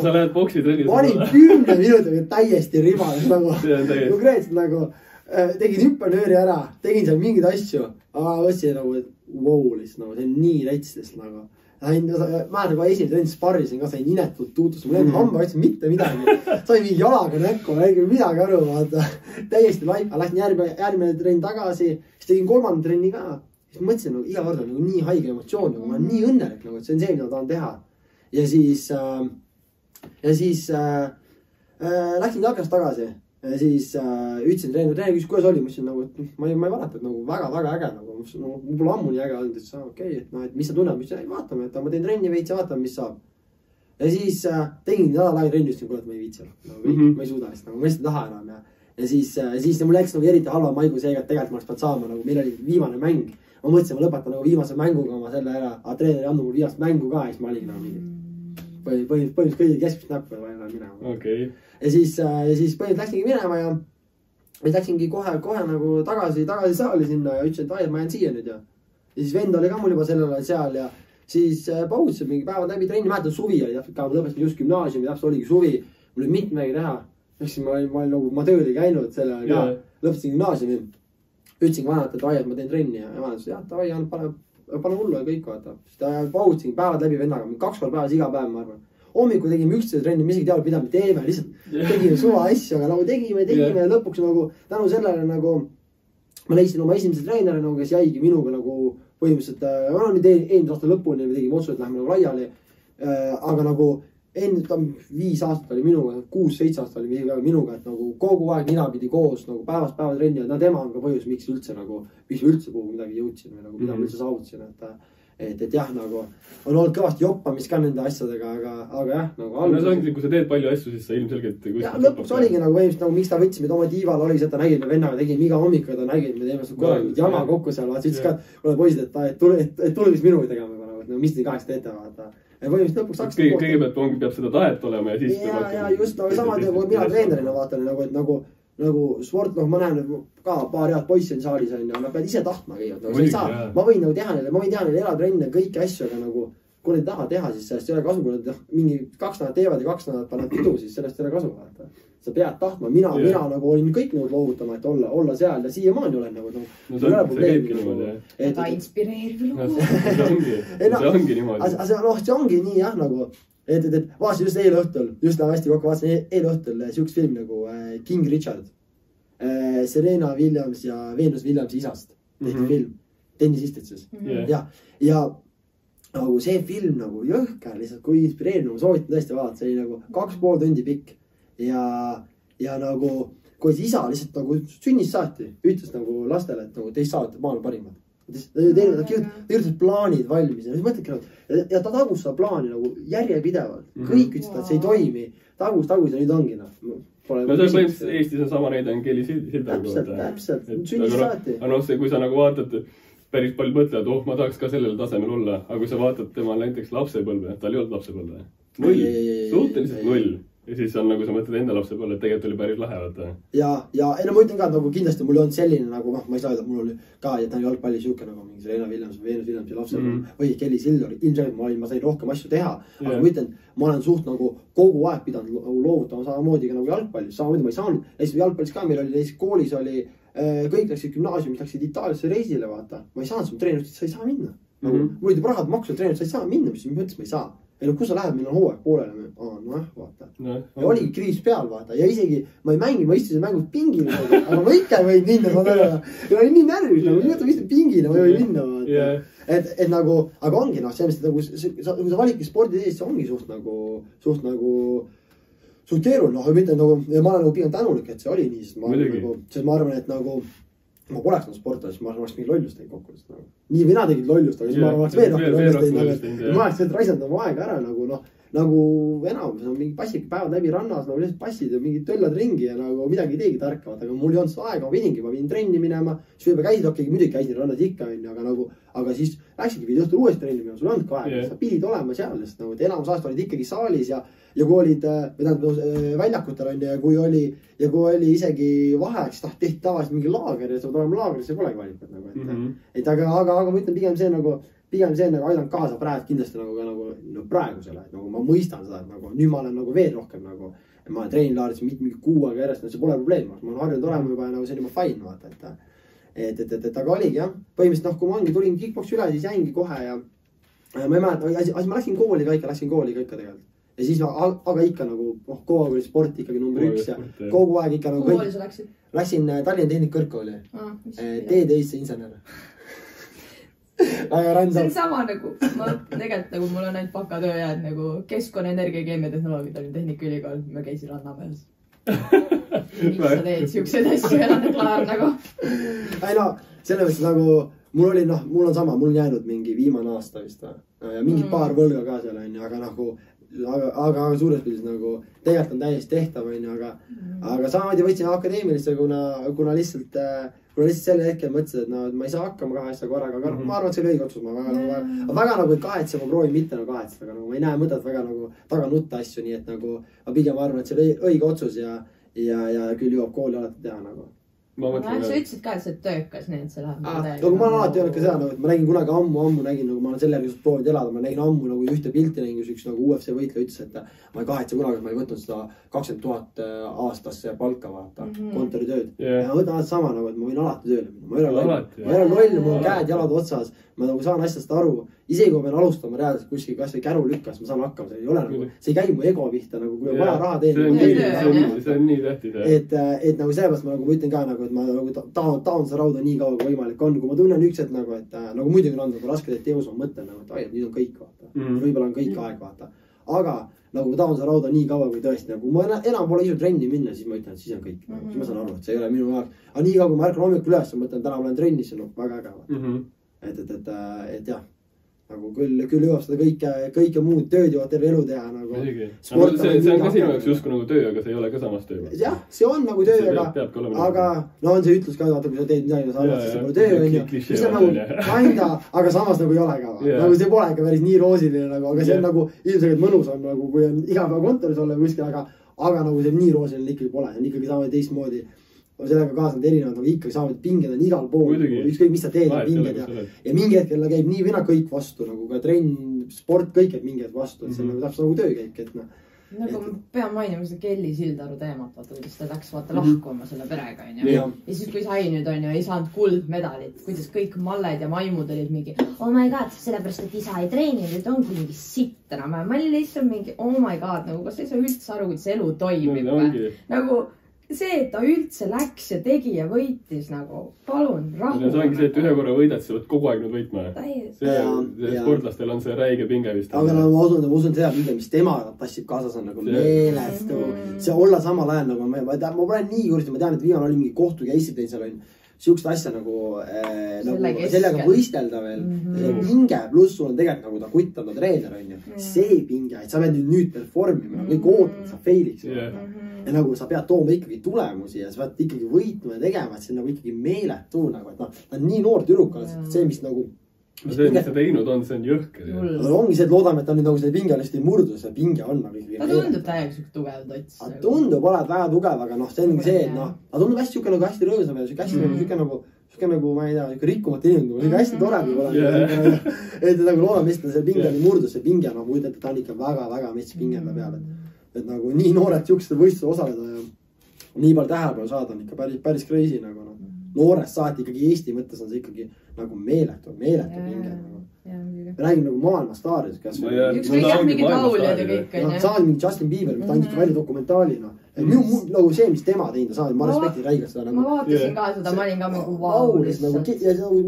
sa lähed boksi trennis. Ma olin 10 minutiga täiesti ribades nagu. Konkreetselt nagu tegin hüppanööri ära, tegin seal mingeid asju, aga mõtlesin nagu, et wow, lihtsalt nagu, see on nii rätsidest nagu. Ma nagu esimene trennis sparrisin ka, sain inetult tuutust, mul enda hamba ütlesin mitte midagi. Sain mingi jalaga näkku, räägin midagi aru, vaata. Täiesti laipa, läksin järgmine trenn tagasi, siis tegin 3. trenni ka. Siis mõtlesin, nagu iga kord on nagu nii haige emotsioon, nagu ma olen nii õnnelik, nagu, et see on see, mida tahan teha. Ja siis läksin jalkast tagasi. Ja siis ütlesin treener, kuidas oli, ma ütlesin nagu, et ma ei valeta, et nagu väga äge, nagu mul pole ammu nii äge olnud, et okei, et noh, et mis sa tunned, mis vaatame, et ma teen trenni veits ja vaatame, mis saab. Ja siis tegin nädal aega trenni, ütlesin, kuule, et ma ei viitsi, ma ei suuda, nagu ma lihtsalt ei taha enam ja siis mul läks nagu eriti halva maigu seega, et tegelikult ma oleks pealt saama, nagu meil oli viimane mäng. Ma mõtlesin, ma lõpetan nagu viimase mänguga oma selle ära, aga treener ei andnud mul viimast mängu ka, siis ma olin nagu mingi põhimõtteliselt kõige keskmist näppu ja vaja enam minema. Okay. Ja siis põhimõtteliselt läksingi minema ja läksingi kohe nagu tagasi saali sinna ja ütlesin, et ma jään siia nüüd ja siis vend oli ka mul juba sellel ajal seal ja siis pautsisin mingi päevad läbi trenni, mäletan suvi oli täpselt ka, ma lõpetasin just gümnaasiumi, täpselt oligi suvi, mul oli mitte midagi teha. Ma tööl ei käinud selle ajal ka, lõpetasin gümnaasiumi, ütlesin vanalt, et ma teen trenni ja vanalt ütlesin, jah, davai, pane hullu ja kõik vaata. Siis pautsisin päevad läbi vennaga, 2 korda päevas iga päev, ma arvan. Hommikul tegime üksteise trenni, me isegi teadnud, mida me teeme, lihtsalt tegime suva asju, aga nagu tegime ja lõpuks nagu tänu sellele nagu ma leidsin oma esimese treeneri, nagu, kes jäigi minuga nagu põhimõtteliselt, eelmise aasta lõpuni me tegime otsu, et lähme nagu laiali, aga nagu enne 5 aastat oli minuga, 6-7 aastat oli minuga, et nagu kogu aeg ninapidi koos nagu päevast päeva trenni, et tema on ka põhjus, miks üldse kuhu midagi jõudsin või nagu mida ma üldse saavutasin, et jah, nagu on olnud kõvasti joppamist ka nende asjadega, aga jah, nagu no see ongi, kui sa teed palju asju, siis sa ilmselgelt ja lõpuks oligi nagu põhimõtteliselt nagu miks ta võtsime oma diival oli see, et ta nägid me vennaga, tegime iga hommik, ta nägid me teeme seda korralikult jama kokku seal, vaata, ütles ka, et kuule poisid, et tule mis minuga tegema, et mis te kaheks teete, vaata. Ja põhimõtteliselt lõpuks hakkas kõigepealt peab seda tahet olema ja siis ja just, aga sama nagu mina treenerina vaatan, nagu sport, ma näen ka paar head poissi on saalis on ja nad peavad ise tahtma kõigepealt. Ma võin teha neile elatrenne kõiki asju, aga nagu kui nad ei taha teha, siis sellest ei ole kasu, kui nad mingi 2 nädalat teevad ja 2 nädalat panevad pidu, siis sellest ei ole kasu. Sa pead tahtma, mina nagu olin kõik nõud loovutama, et olla seal ja siiamaani olen nagu. No see käibki niimoodi, jah. Väga inspireeriv lugu. See ongi niimoodi. See ongi nii jah, nagu et vaatasin just eile õhtul, just hästi kokku vaatasin eile õhtul siukest film nagu King Richard. Serena Williams ja Venus Williamsi isast tehti film tennisistid siis. Ja nagu see film nagu jõhker lihtsalt, kui inspireeriv, soovitan tõesti vaadata, see oli nagu 2,5 tundi pikk ja nagu kui isa lihtsalt nagu sünnist saati ütles nagu lastele, et nagu teist saate maailma parimad. Ta kirjutas plaanid valmis ja siis mõtledki ja ta tagus seda plaani nagu järjepidevalt. Kõik ütlesid, et see ei toimi. Tagus ja nüüd ongi noh. No see on põhimõtteliselt Eestis on sama näide on Kelly Sildaga. Täpselt. Sünnist saati. Aga kui sa nagu vaatad, päris palju mõtlevad, ma tahaks ka sellel tasemel olla. Aga kui sa vaatad tema näiteks lapsepõlve, tal ei olnud lapsepõlve. 0. Suhteliselt 0. ja siis on nagu sa mõtled enda lapse peale, et tegelikult oli päris lahe, vaata. ja ei no ma ütlen ka, nagu kindlasti mul on selline nagu, ma ei saa öelda, mul oli ka, et ta on jalgpalli siuke nagu mingi Serena Williams või Venus Williamsi lapsel või Kelly Silver, ilmselgelt ma sain rohkem asju teha, aga ma ütlen, ma olen suht nagu kogu aeg pidanud nagu loovutama samamoodi ka nagu jalgpallis, samamoodi ma ei saanud, näiteks jalgpallis ka meil oli, näiteks koolis oli, kõik läksid gümnaasiumist, läksid Itaaliasse reisile, vaata, ma ei saanud, treenerist, sa ei saa minna. Mul olid rahad maksud, treenerist, sa ei saa minna, mis mõttes ma ei saa. Ei no kus sa lähed, meil on hooaeg poolele, vaata. Ja oligi kriis peal, vaata, ja isegi ma ei mängi, ma istusin mängus pingile, aga ma ikka ei võinud minna, ma tean, ja olin nii närvis, nagu ma istun pingile, ma ei või minna, vaata. Et nagu, aga ongi noh, sellest, et nagu, kui sa valikki spordi teed, see ongi suht keeruline, noh, mitte nagu, ja ma olen nagu pigem tänulik, et see oli nii, sest ma arvan, et nagu ma poleks olnud sportlasest, ma oleks mingi lollust teinud kokkudest nagu. Nii mina tegid lollust, aga siis ma oleks veel rohkem lollust teinud. Ma oleks raisanud oma aega ära nagu noh, nagu enamus on mingi passike päevad läbi rannas, nagu lihtsalt passid ja mingid töllad ringi ja nagu midagi ei teegi tarkavat, aga mul ei olnud seda aega, ma pidin trenni minema, siis võib-olla käisid okei, muidugi käisin rannas ikka, aga siis läksidki, pidid õhtul uuesti trenni minema, sul ei olnud ka aega, sa pidid olema seal, sest nagu enamus aasta olid ikkagi saalis ja kui olid väljakutel on ja kui oli isegi vaheaeg, siis tehti tavaliselt mingi laager ja sa pead olema laagris, see polegi valikut nagu, et aga ma ütlen pigem see nagu aidanud kaasa praegu kindlasti nagu praegusele, et nagu ma mõistan seda, et nagu nüüd ma olen nagu veel rohkem nagu, ma olen treenilaaris mingi 6 aega järjest, see pole probleem, ma olen harjunud olema juba nagu see on juba fine, vaata, et aga oligi jah, põhimõtteliselt noh, kui ma tulin kickboksi üle, siis jäingi kohe ja ma ei mäleta, aga ma läksin kooli ka ikka tegelikult. Ja siis, aga ikka nagu, kogu aeg oli sport ikkagi number 1 ja kogu aeg ikka nagu... Kooli sa läksid? Läksin Tallinna Tehnikakõrgkooli. TD-isse insener. See on sama nagu, ma tegelikult nagu mul on ainult bakatöö jääd nagu keskkonna, energia ja keemiatehnoloogia Tallinna Tehnikaülikool, ma käisin Rannamäes. Miks sa teed siukseid asju elanud klaar nagu? Ei no, selle mõttes nagu, mul on sama, mul on jäänud mingi viimane aasta vist ja mingi paar võlga ka seal on, aga nagu aga suures pildis nagu tegelikult on täiesti tehtav, aga samamoodi võtsin akadeemilisse, kuna lihtsalt sel hetkel mõtlesin, et no, ma ei saa hakkama 2 asja korraga, aga ma arvan, et see oli õige otsus, ma väga nagu ei kahetse, ma proovin mitte nagu kahetseda, aga nagu ma ei näe mõtet väga nagu taga nutta asju, nii et nagu ma pigem arvan, et see oli õige otsus ja küll jõuab kooli alati teha nagu. Sa ütlesid ka, et see töökas, nii et see läheb nagu ma olen alati öelnud ka seda, et ma nägin kunagi ammu nägin, nagu ma olen selle järgi proovinud elada, ma nägin ammu nagu ühte pilti nägin, kus üks nagu UFC võitleja ütles, et ma ei kahetse kunagi, et ma ei võtnud seda 20 000 aastasse palka vaata, kontoritööd. Ja ma võtan alati sama nagu, et ma võin alati tööle minna. Ma ei ole loll, mul on käed jalad otsas, ma nagu saan asjast aru. Isegi kui ma pean alustama reaalselt kuskil kas või käru lükkas, ma saan hakkama, see ei ole nagu, see ei käi mu ego pihta, nagu kui on vaja raha teenida. See on nii tähtis. Et nagu sellepärast ma nagu ütlen ka nagu, et ma nagu taon seda rauda nii kaua kui võimalik on, kui ma tunnen üks, et nagu, et nagu muidugi on olnud raske teos, ma mõtlen nagu, et ai, nüüd on kõik vaata. Võib-olla on kõik aeg vaata. Aga nagu ma taon seda rauda nii kaua kui tõesti, nagu ma enam pole isu trenni minna, siis ma ütlen, et siis on kõik. Siis ma saan aru, et see ei ole minu jaoks. Aga nii kaua kui ma ärkan hommikul üles, ma mõtlen, täna ma olen trennis, see on väga äge. Et jah. Nagu küll jõuab seda kõike muud tööd jõuab terve elu teha nagu. See on ka sinu jaoks justkui nagu töö, aga see ei ole ka samas töö. Jah, see on nagu töö, aga no on see ütlus ka, vaata, kui sa teed midagi, sa arvad, siis see pole töö, on ju. Mis on nagu kinda, aga samas nagu ei ole ka. Nagu see pole ikka päris nii roosiline nagu, aga see on nagu ilmselgelt mõnus on nagu, kui on iga päev kontoris olla kuskil, aga nagu see nii roosiline ikkagi pole. On ikkagi saama teistmoodi. Sellega kaasanud erinevad, nagu ikkagi saavad pinged on igal pool, ükskõik mis sa teed pinged ja mingi hetkel käib nii või kõik vastu, nagu ka trenn, sport, kõik käib mingi hetk vastu, et see on täpselt nagu töö käik, et noh. Nagu ma pean mainima seda Kelly Sildaru teemat, vaata, kuidas ta läks lahkuma selle perega, on ju. Ja siis kui sai nüüd, on ju, ei saanud kuldmedalit, kuidas kõik malled ja maimud olid mingi, oh my god, sellepärast, et isa ei treeni, nüüd ongi mingi sitt enam. Ma olin lihtsalt mingi, oh my god, nagu kas ei saa üldse aru, kuidas elu toimib. Nagu see, et ta üldse läks ja tegi ja võitis nagu, palun, rahu. See ongi see, et ühe korra võidad, sa võid kogu aeg nüüd võitma. Sportlastel on see räige pinge vist. Aga ma usun seda pinge, mis tema tassib kaasas on nagu meelestu. See olla samal ajal nagu, ma pole nii kursti, ma tean, et viimane oli mingi kohtu käisid teil seal on siukest asja nagu sellega võistelda veel. Pinge pluss sul on tegelikult nagu ta kutt on ta treener on ju. See pinge, et sa pead nüüd performima, kõik ootad, sa failiks. Ja nagu sa pead tooma ikkagi tulemusi ja sa pead ikkagi võitma ja tegema, et see on nagu ikkagi meeletu nagu, et noh, ta on nii noor tüdruk, see, mis nagu see, mis ta teinud on, see on jõhker. Aga ongi see, et loodame, et ta nüüd nagu see pingelist ei murdu, see pinge on nagu ikkagi. Ta tundub täiega siuke tugev tots. Ta tundub olevat väga tugev, aga noh, see ongi see, et noh, ta tundub hästi siuke nagu hästi rõõsam ja siuke nagu, ma ei tea, siuke rikkumata inimene, siuke hästi tore nagu et nagu loodame vist, et see pinge ei murdu, see pinge, no muidu, et ta on ikka väga-väga mets pingenda peal, et nagu nii noored siuksed võistlused osaleda ja nii palju tähelepanu saada on ikka päris crazy nagu noh. Noorest saati ikkagi Eesti mõttes on see ikkagi nagu meeletu pinge nagu. Me räägime nagu maailmastaaris, kas ükskõik jah, mingid lauljad ja kõik on. Saad mingi Justin Bieber, ta andis välja dokumentaalina. Nagu see, mis tema teinud, ta saad, ma respektin räigelt seda nagu. Ma vaatasin ka seda, ma olin ka mingi vau.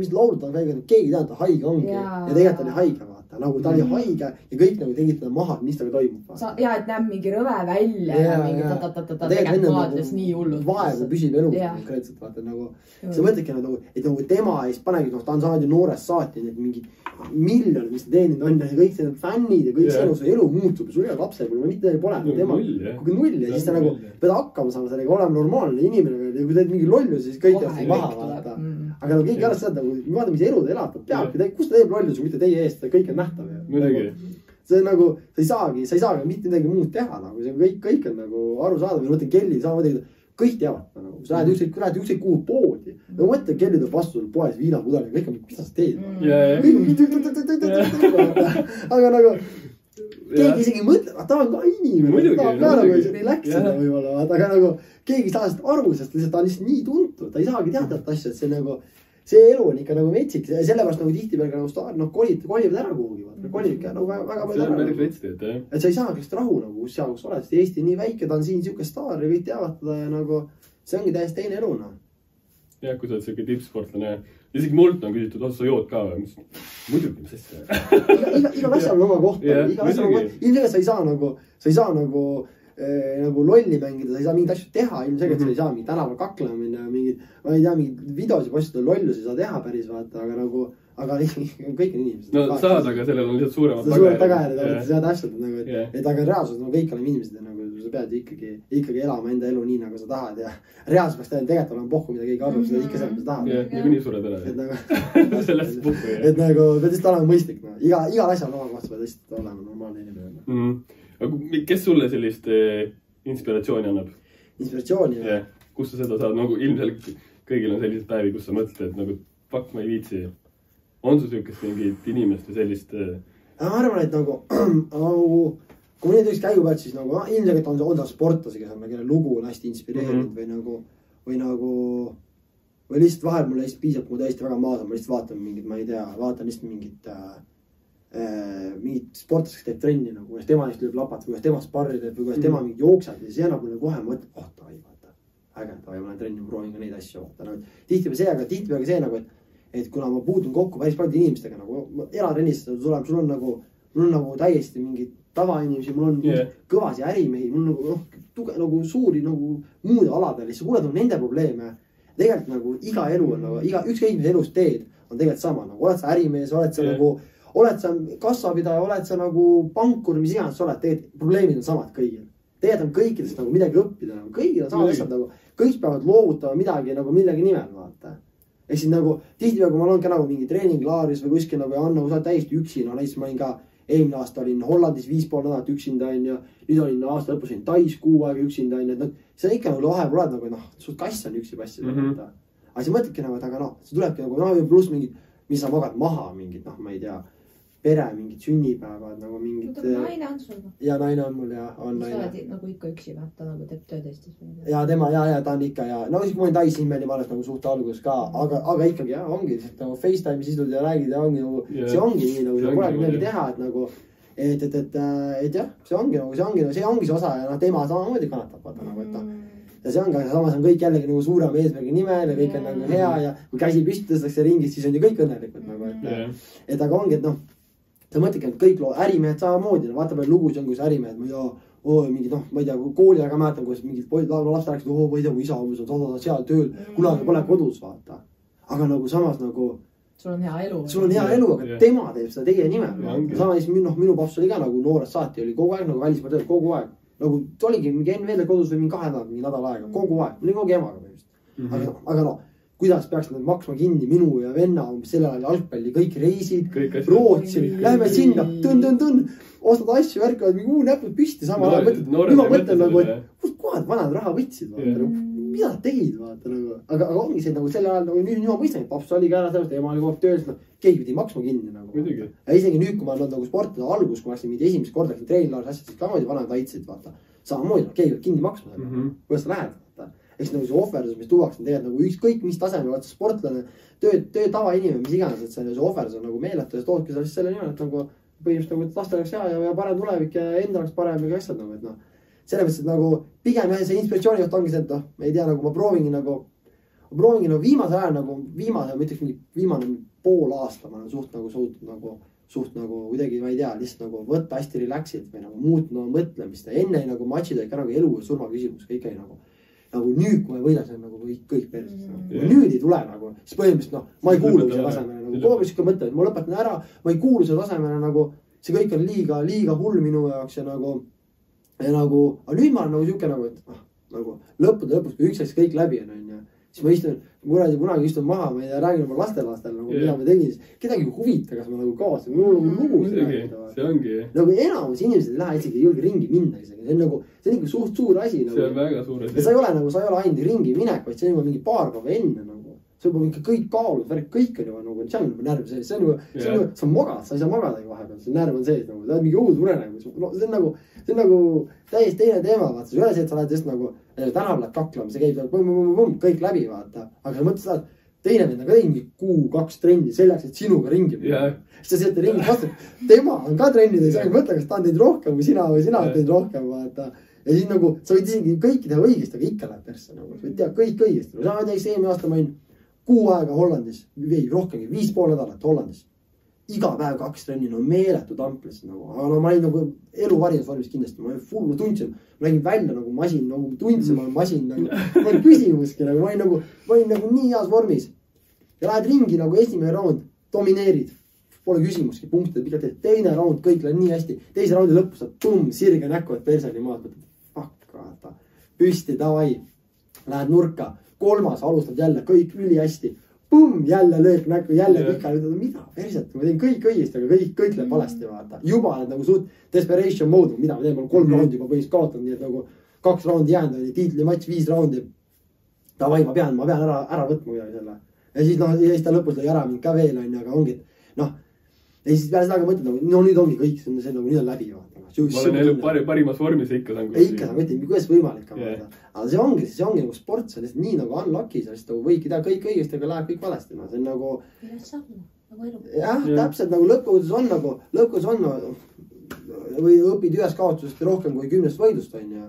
Mis laulud ta on käinud, keegi tead, ta haige ongi ja tegelikult oli haige vaata. Nagu ta oli haige ja kõik nagu tegid teda maha, mis taga toimub. Ja, et näeb mingi rõve välja ja mingi tegelikult vaatles nii hullud. Vaevu püsib elus konkreetselt vaata nagu. See mõtledki nagu, et nagu tema eest panegi, noh, ta on saanud ju noorest saati, need mingi miljonid, mis ta teeninud on ja kõik see fännid ja kõik see su elu muutub ja sul ei ole lapse, kui mitte pole tema kuigi null ja siis ta nagu pead hakkama saama sellega, olema normaalne inimene ja kui teed mingi lollu, siis kõik jääb siin maha vaata. Aga nagu keegi arvas seda, kui vaata, mis elu ta elab, peabki, kus ta teeb lollu, mitte teie eest, kõik on nähtav. See on nagu, sa ei saagi mitte midagi muud teha, nagu see kõik on nagu aru saada või mõtlen Kelly samamoodi, kõik teavad nagu, sa lähed ükskõik kuhu poodi. No mõtle, Kelly tuleb vastu poes viinapudel ja kõik on, mis sa teed? Aga nagu keegi isegi mõtleb, ta on ka inimene, ta on ka nagu relaxida võib-olla, aga nagu keegi ei saa seda aru, sest ta on lihtsalt nii tuntud, ta ei saagi teada asja, et see nagu see elu on ikka nagu metsik, sellepärast nagu tihtipeale nagu staarid, noh, kolivad ära kuhugi, kolib ikka nagu väga palju ära. Et sa ei saa kõigest rahu nagu, kus seal, kus oled, sest Eesti nii väike, ta on siin siuke staar ja kõik teavad teda ja nagu see ongi täiesti teine elu, noh. Jah, kui sa oled siuke tippsportlane, isegi mult on küsitud, sa jood ka või? Muidugi, mis asja. Igal asjal on oma koht. Ilmselgelt sa ei saa nagu lolli mängida, sa ei saa mingeid asju teha, ilmselgelt sa ei saa mingit tänaval kaklema minna, mingid, ma ei tea, mingid videosid postida lollusi ei saa teha päris vaata, aga nagu, aga kõik on inimesed. No saad, aga sellel on lihtsalt suuremad tagajärjed, see on täpselt nagu, et aga reaalsus nagu kõik oleme inimesed ja nagu sa pead ikkagi elama enda elu nii, nagu sa tahad ja reaalsus peaks tegelikult olema pohku, mida keegi arvab, seda ikka sealt, mis tahad. Ja nii sured ära. Sellest puhku. Et nagu pead lihtsalt olema mõistlik, igal asjal oma kohta pead lihtsalt olema normaalne inimene. Aga kes sulle sellist inspiratsiooni annab? Inspiratsiooni? Kus sa seda saad? Nagu ilmselt kõigil on sellised päevi, kus sa mõtled, et nagu fuck, ma ei viitsi. On su siukest mingit inimest või sellist? Ma arvan, et nagu kui ma neid üks käigu pealt, siis nagu ilmselt on ta sportlasi, kes on kelle lugu on hästi inspireerinud või lihtsalt vahel mulle lihtsalt piisab, kui ma tõesti väga maas on, ma lihtsalt vaatan mingit, ma ei tea, vaatan lihtsalt mingit sportlast, kes teeb trenni nagu, kuidas tema neist lööb lapat või kuidas tema sparri teeb või kuidas tema mingid jooksad ja see annab mulle kohe mõtleb, davai, vaata, äge, davai, ma lähen trenni, ma proovin ka neid asju vaata. Tihtipeale see nagu, et kuna ma puutun kokku päris paljude inimestega nagu elatrennis, sul on nagu täiesti mingid tavainimesi, mul on kõvasi ärimehi, mul on nagu suuri nagu muude aladel, siis sa kuuled nende probleeme. Tegelikult nagu iga elu on nagu, ükskõik mis elus teed on tegelikult sama, nagu oled sa ärimees, oled sa kassapidaja, oled sa nagu pankur, mis iganes sa oled, tegelikult probleemid on samad kõigil. Tegelikult on kõikidest nagu midagi õppida, nagu kõigil on samad asjad nagu, kõik peavad loovutama midagi nagu millegi nimel, vaata. Ehk siis nagu tihtipeale, kui ma olen ka nagu mingi treeninglaaris või kuskil nagu Anna, kui sa oled täiesti üksi, no näiteks ma olin ka eelmine aasta olin Hollandis 5,5 nädalat üksinda on ja nüüd olin aasta lõpus olin Tais 6 aega üksinda on, et see on ikka nagu vahepeal oled nagu, sul kass on üksi passida. Aga sa mõtledki nagu, et aga see tulebki nagu, pluss mingid, mis sa magad maha mingid, ma ei tea, pere, mingid sünnipäevad, nagu mingid... Naine on sul. Ja naine on mul ja on naine. Sa oled nagu ikka üksi, ta nagu teeb tööd Eestis. Ja tema, ja ta on ikka ja... No siis kui ma olin Tais nimmeli, ma alles nagu suht alguses ka, aga ikkagi jah, ongi nagu FaceTime'is istud ja räägid ja ongi nagu... See ongi nii nagu, see polegi midagi teha, et nagu... Et jah, see ongi see osa ja tema samamoodi kannatab, vaata nagu, et ja see ongi, aga samas on kõik jällegi nagu suurem eesmärgi nimel ja kõik on nagu hea ja kui käsi püstitakse ringis, siis on ju kõik õnnelikud nagu, et aga ongi, et noh, sa mõtledki, et kõik ärimehed samamoodi, vaata palju lugusid on, kus ärimehed, mingid, ma ei tea, kooli aega mäletan, kuidas mingid lapsed rääkisid, ma ei tea, mu isa umbes on seal tööl, kunagi pole kodus, vaata. Aga nagu samas nagu sul on hea elu. Sul on hea elu, aga tema teeb seda teie nimel. Sama siis minu paps oli ka nagu noorest saati, oli kogu aeg nagu välismaal tööl, kogu aeg. Nagu ta oligi mingi NVL kodus või mingi 2 nädalat, mingi nädal aega, kogu aeg. Mul oli kogu emaga põhimõtteliselt. Aga no, kuidas peaks nad maksma kinni minu ja venna sellel ajal jalgpalli, kõik reisid, Rootsi, lähme sinna, tõn, ostad asju, värkavad mingi näpud püsti, sama ajal mõtled, nüüd ma mõtlen nagu, et kust kohad vanad raha võtsid, mida tegid, vaata nagu, aga ongi see nagu selle ajal nagu nüüd ma mõistan, et paps oli ka ära sellest, ema oli kogu aeg tööl, keegi pidi maksma kinni nagu. Ja isegi nüüd, kui ma olen nagu sportide algus, kui ma läksin mingi esimest korda, läksin treenilaaris asjad, siis ka moodi vanad aitsid, vaata. Samamoodi, keegi peab kinni maksma, kuidas sa lähed, vaata. Eks nagu see ohverdus, mis tuuakse tegelikult nagu ükskõik mis tasemel, vaata sportlane, töö tavainimene, mis iganes, et see ohverdus on nagu meeletu ja toodki sa selle nimel, et nagu põhimõtteliselt nagu, et lastel oleks hea ja parem tulevik ja enda oleks parem ja asjad nagu, et noh. Selles mõttes, et nagu pigem see inspiratsiooni koht ongi see, et noh, ma ei tea, nagu ma proovingi nagu viimase ajal nagu ma ütleks mingi viimane pool aasta ma olen suht nagu kuidagi, ma ei tea, lihtsalt nagu võtta hästi relaxid või nagu muutma mõtlemist ja enne nagu matšid olid ka nagu elu ja surma küsimus, kõik oli nagu nüüd, kui ma võidan, see on nagu kõik perses. Nüüd ei tule nagu, siis põhimõtteliselt noh, ma ei kuulu selle tasemele nagu, kogu aeg mõte, et ma lõpetan ära, ma ei kuulu selle tasemele nagu, see kõik on liiga hull minu jaoks ja nagu, aga nüüd ma olen nagu siuke nagu, et nagu lõppude lõpus, kui üks asja kõik läbi on, siis ma istun, kunagi istun maha, ma ei tea, räägin oma lastel nagu, mida ma tegin, siis kedagi huvita, kas ma nagu kaosin, mul on lugu. See ongi. Nagu enamus inimesed ei lähe isegi julge ringi minna isegi, see on nagu suht suur asi. See on väga suur asi. Ja sa ei ole ainult ringi minek, vaid see on juba mingi paar päeva enne nagu. See on ikka kõik kaalud, kõik on juba nagu, see on juba närv sees, see on magad, sa ei saa magadagi vahepeal, see närv on sees nagu, ta on mingi uus unenägu, see on nagu täiesti teine teema, vaata, see ei ole see, et sa lähed just nagu tänav lähed kaklama, see käib kõik läbi, vaata, aga sa mõtled seda, et teine vend on ka teinud kuu 2 trenni selleks, et sinuga ringi minna. Siis sa sealt ringi vastu, tema on ka trennid ja sa ei mõtle, kas ta on teinud rohkem kui sina või sina on teinud rohkem, vaata. Ja siis nagu, sa võid isegi kõiki teha õigesti, aga ikka läheb persse nagu, sa võid teha kõik õigesti. Sa näiteks eelmine aasta ma olin kuu aega Hollandis, või rohkemgi, 5,5 nädalat Hollandis. Iga päev 2 trenni, no meeletu tamplis nagu, aga no ma olin nagu elu varinsvormis kindlasti, ma olin full, ma tundsin, ma nägin välja nagu masin, nagu tundsin, ma olen masin, nagu, ma olin küsimuski, nagu, ma olin nagu nii heas vormis. Ja lähed ringi nagu esimene raund, domineerid, pole küsimuski, punktid, pikalt teed, teine raund, kõik läheb nii hästi, teise raundi lõpus saab sirge näkku, et perseni maad, fuck, vaata, püsti, davai, lähed nurka, 3. alustad jälle, kõik üli hästi. Jälle löök näkku, jälle pikali, mida perset, ma teen kõik õigesti, aga kõik läheb valesti, vaata. Juba oled nagu suht desperation mode, mida ma teen, ma olen 3 raundi juba põhimõtteliselt kaotanud, nii et nagu 2 raundi jäänud, tiitlimatš 5 raundi. Davai, ma pean ära võtma kuidagi selle. Ja siis noh, ja siis ta lõpus lõi ära mind ka veel, aga ongi, noh. Ja siis peale seda ka mõtled, no nüüd ongi kõik, see nagu nüüd on läbi, vaata. Ma olen elu parimas vormis ikka saan. Ikka saan, mõtled, kuidas võimalik ka vaata. Aga see ongi nagu sport, see on lihtsalt nii nagu unlucky, sa lihtsalt võidki teha kõik õigesti, aga läheb kõik valesti. See on nagu... Jah, täpselt nagu lõppkogudes on või õpid ühes kaotusest rohkem kui 10 võidust on ja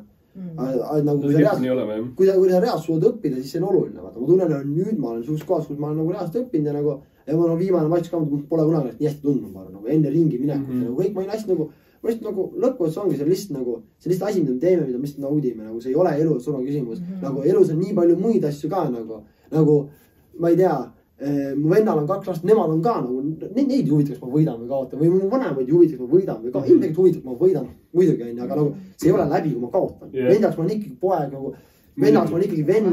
kui sa reaalselt suudad õppida, siis see on oluline. Ma tunnen, et nüüd ma olen suus kohas, kus ma olen nagu reaalselt õppinud ja nagu ja ma olen viimane matš ka, pole kunagi nii hästi tundnud, nagu enne ringi minekut ja kõik ma olin hästi nagu ma just nagu lõppkogudes ongi see lihtsalt asi, mida me teeme, mida me lihtsalt naudime, nagu see ei ole elu surma küsimus. Nagu elus on nii palju muid asju ka nagu ma ei tea, mu vennal on 2 last, nemad on ka nagu, neid huvitaks ma võidan või kaotan või mu vanemaid huvitaks ma võidan või ka ilmselt huvitaks ma võidan, muidugi on, aga nagu see ei ole läbi, kui ma kaotan. Vendaks ma olen ikkagi poeg nagu, vennaks ma olen ikkagi vend,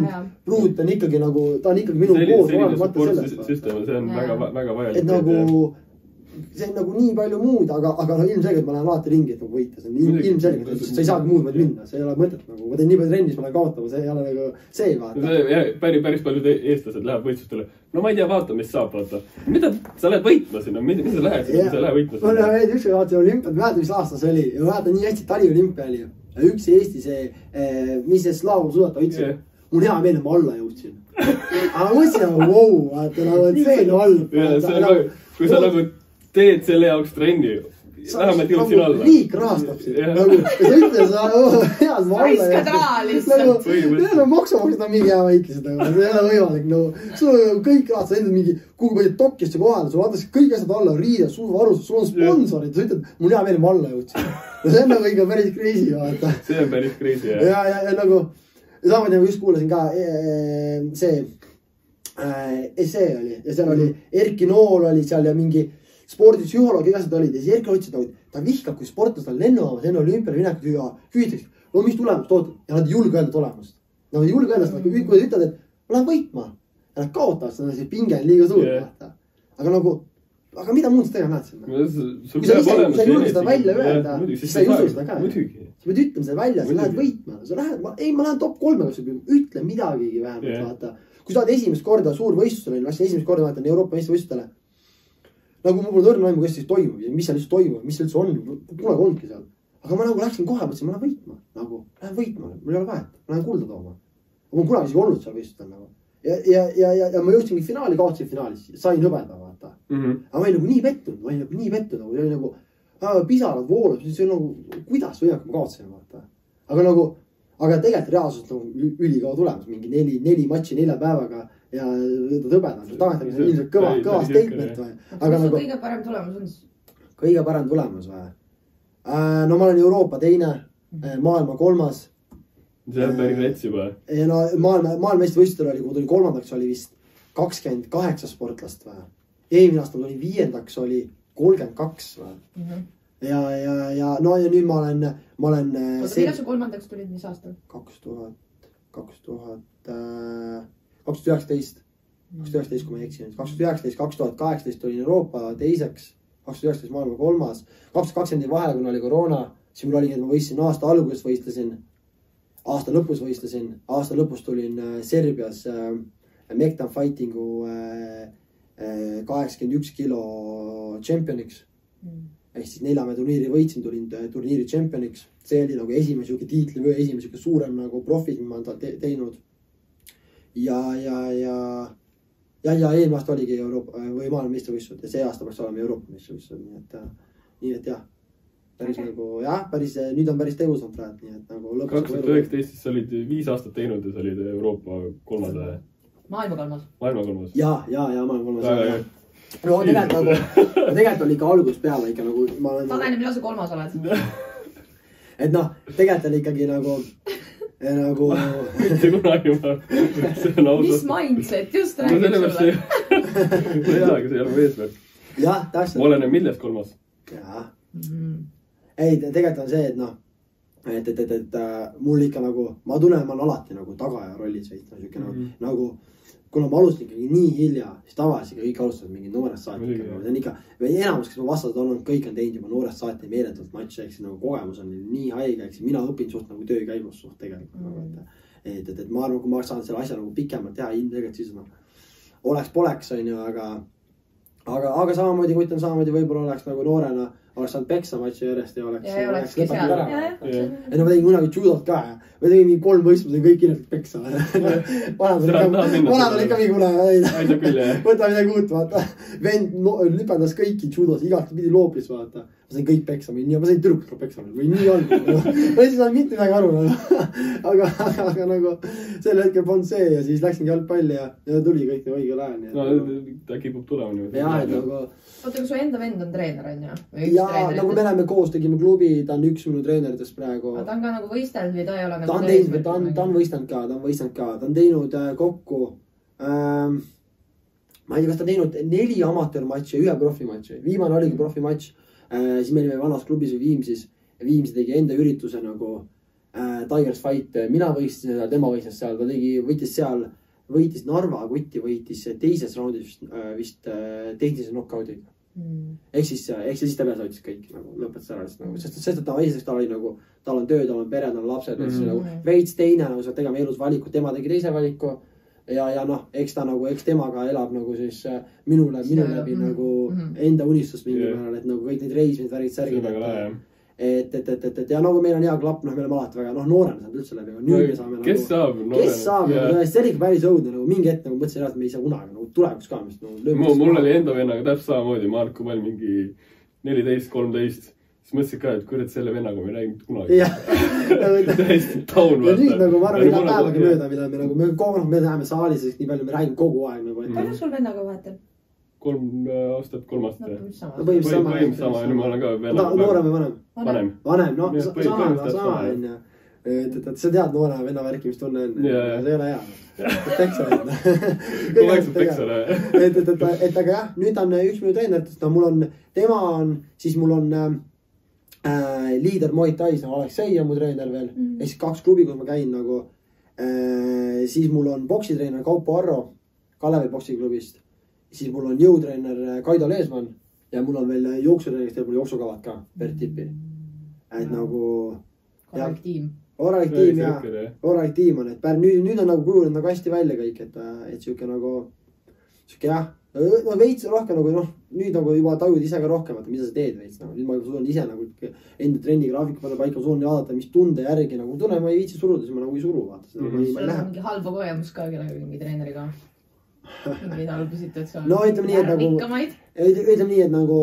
pruut on ikkagi nagu, ta on ikkagi minu koos olenemata sellest. See on väga vajalik. Et nagu see on nagu nii palju muud, aga no ilmselgelt ma lähen alati ringi, et nagu võita. See on ilmselgelt, et sa ei saagi muud vaid minna. See ei ole mõtet nagu, ma teen nii palju trennis, ma lähen kaotama, see ei ole nagu see vaata. Päris paljud eestlased läheb võistlustele. No ma ei tea, vaata, mis saab, vaata. Mida sa lähed võitma sinna? Mida sa lähed sinna, sa lähed võitma sinna? Ma üks või vaata olümpiad, mäletan, mis aastas oli. Ja ma mäletan nii hästi, Tali olümpia oli. Üks Eesti see, mis see Slaavu suudata võitsin. Mul hea meel, ma alla jõudsin. Aga mõtlesin nagu, wow, vaata, nagu, et see on all. Kui sa nagu teed selle jaoks trenni, vähemalt jõudsin alla. Liik rahastab sind. Nagu, sa ütled, sa head ma alla. Raiskad raha lihtsalt. Nagu maksumaksed on mingi hea väikesed, aga see ei ole võimalik. Nagu, sul on kõik rahad, sa endad mingi, kuhu põhjad Tokiosse kohale, sul antakse kõik asjad alla, riided, suuvarustus, sul on sponsorid, sa ütled, mul hea meel, ma alla jõudsin. See on nagu ikka päris crazy, vaata. See on päris crazy, jah. Ja nagu, samamoodi nagu just kuulasin ka see oli, ja seal oli Erki Nool oli seal ja mingi spordipsühholoog, igased olid ja siis Erki ütles, et ta vihkab, kui sportlased on lennuvaamas enne olümpiale minekut ja hüütakse, mis tulemust ootad ja nad ei julge öelda tulemust. Nad ei julge öelda, kui ütled, et ma lähen võitma. ja nad kaotavad, see pinge on liiga suur, vaata. Aga nagu, aga mida muud sa tegema näed sinna? Kui sa ei julge seda välja öelda, siis sa ei usu seda ka. Sa pead ütlema seda välja, sa lähed võitma. Sa lähed, ma lähen top 3, ütle midagigi vähemalt, vaata. Kui sa oled esimest korda suur võistlusele, läksin esimest korda vaatan Euroopa meistrivõistlustele. Nagu mul pole õrna aimu, kes siis toimub ja mis seal üldse toimub, mis üldse on, kunagi olnudki seal. Aga ma nagu läksin kohe, mõtlesin, ma lähen võitma. Nagu, lähen võitma, mul ei ole vahet, ma lähen kulda tooma. Ma olen kunagi isegi olnud seal võistlustel nagu. Ja ma jõudsingi finaali, kaotsin finaalis, sain hõbeda, vaata. Aga ma olin nagu nii pettunud, oli nagu pisarad voolud, siis oli nagu, kuidas võimalik ma kaotsin, vaata. Aga tegelikult reaalsus on ülikaua tulemas, mingi 4 matši 4 päevaga ja hõbeda. Tagantagi see on ilmselt kõva statement või. Aga nagu kõige parem tulemus on? Kõige parem tulemus või? No ma olen Euroopa 2, maailma 3. See on päris rets juba. No maailmeistrivõistlustel oli, kui tuli 3. oli vist 28 sportlast või. Eelmine aasta tuli 5. oli 32 või. Ja nüüd ma olen... Millal sa 3. tulid, mis aastal? 2019, kui ma ei eksi. 2019, 2018 tulin Euroopa 2, 2019 maailma 3, 2020 vahel, kui oli koroona, siis mul oli, et ma võistlesin aasta alguses võistlesin, aasta lõpus võistlesin, aasta lõpus tulin Serbias Mektan Fightingu 81 kilo tšempioniks. Ehk siis 4 turniiri võitsin, tulin turniiri tšempioniks. See oli nagu esimene tiitli või esimene suurem nagu profid, mis ma olen teinud. Ja eelmine aasta oligi Euroopa või maailma meistrivõistlused ja see aasta peaks olema Euroopa meistrivõistlused. Nii et jah, päris nagu, nüüd on päris tegusam praegu. Nii et nagu 2019 sa olid 5 aastat teinud ja sa olid Euroopa 3. Maailma 3. Maailma 3. Ja maailma 3. No tegelikult oli ikka algust peale ikka nagu... Tanel, millal sa 3. oled? Et noh, tegelikult oli ikkagi nagu... Mitte kunagi ma... Mis mindset, just räägid sulle? Ma ei aga see ei ole eesmärk. Jah, täpselt. Ma olen millest 3. Jah. Ei, tegelikult on see, et noh, et mul ikka nagu... Ma tunnen, ma olen alati nagu tagaja rollis veits. Nagu... Kuna ma alustan ikkagi nii hilja, siis tavaliselt kõik alustavad mingi noorest saati. See on ikka, enamus, kes ma vastased olnud, kõik on teinud juba noorest saati meeletult matši, eks nagu kogemus on nii haige, eks mina õpin suht nagu töö käigus suht tegelikult. Et ma arvan, kui ma saan selle asja nagu pikemalt teha, ilmselt siis oleks-poleks, on ju, aga samamoodi, kui ütlen samamoodi, võib-olla oleks nagu noorena, oleks saanud peksa matši järjest ja oleks lõpetanud ära. Ja ma tegin kunagi judot ka ja ma tegin mingi 3 võistluse kõik ilmselt peksa. Vanad on ikka mingi kuna võta midagi uut, vaata. Vend lüpendas kõiki judos, igalt pidi loopis, vaata. Ma sain kõik peksa, ma sain tüdrukud ka peksa. Või nii on. Ma ei saa mitte midagi aru. Aga nagu sel hetkel polnud see ja siis läksingi jalgpalli ja tuli kõik õigel ajal. No ta kipub tulema. Jah, et nagu... Oota, kui su enda vend on treener, on ju? Jaa, nagu me oleme koos, tegime klubi, ta on üks minu treeneritest praegu. Ta on ka nagu võistelnud või ta ei ole nagu... Ta on võistelnud ka, ta on teinud kokku... Ma ei tea, kas ta on teinud 4 amatöörmatši ja 1 profimatši. Viimane oligi profimatš. Siis me olime vanas klubis või Viimsis. Viimsi tegi enda ürituse nagu Tigers Fight. Mina võistsin seda, tema võistles seal. Ta võitis seal, võitis Narva kuti, võitis teises raundis vist tehnilise knockouti. Ehk siis ta peas võitis kõik, lõpetas ära. Sest ta esiteks tal oli nagu, tal on töö, tal on pere, tal on lapsed. Veits teine, nagu sa tegema elus valikud, tema tegi teise valiku. Ja noh, eks ta nagu, eks temaga elab nagu siis minu läbi nagu enda unistust mingi määral, et nagu kõik need reismid, värgid, särgid. Et ja nagu meil on hea klapp, noh, meil on alati väga, noh, noorena saab üldse läbi. Nüüd me saame nagu... Kes saab noorena? See oli päris õudne, nagu mingi hetk nagu mõtlesin, et me ei saa kunagi nagu tulevikus ka. Mul oli enda vennaga täpselt samamoodi, Marko Pall mingi 14-13. Siis mõtlesin ka, et kurat selle vennaga me räägime kunagi. Täiesti taun. Ja nüüd nagu ma arvan, iga päevaga mööda, mida me nagu, me läheme saalis, sest nii palju me räägime kogu aeg. Palju sul vennaga vahetab? 3 aastat, 3 aastat. Põhimõtteliselt sama, nüüd ma olen ka vennaga. Noorem või vanem? Vanem, no sama. Et sa tead noore venna värki, mis tunne on. See ei ole hea. Peksale. Et aga jah, nüüd on üks minu treeneritest, tema on, siis mul on liider Muay Thais, Aleksei on mu treener veel. Ehk siis 2 klubi, kus ma käin nagu. Siis mul on boksitreener Kaupo Arro. Kalevi poksiklubist. Siis mul on jõutreener Kaido Leesmann ja mul on veel jooksutreener, kes teeb mul jooksukavad ka, Bert Tippi. Et nagu... Korralik tiim. Korralik tiim on, et nüüd on nagu kujunud nagu hästi välja kõik, et siuke nagu, siuke jah, no veits rohkem nagu noh, nüüd nagu juba tajud ise ka rohkem, et mida sa teed veits nagu, nüüd ma suudan ise nagu enda trenni graafiku panna paika, suudan vaadata, mis tunde järgi nagu tunnen, ma ei viitsi suruda, siis ma nagu ei suru, vaata. Sul on mingi halba kogemus ka kellega mingi treeneriga? Mingeid halbu situatsioone? No ütleme nii, et nagu,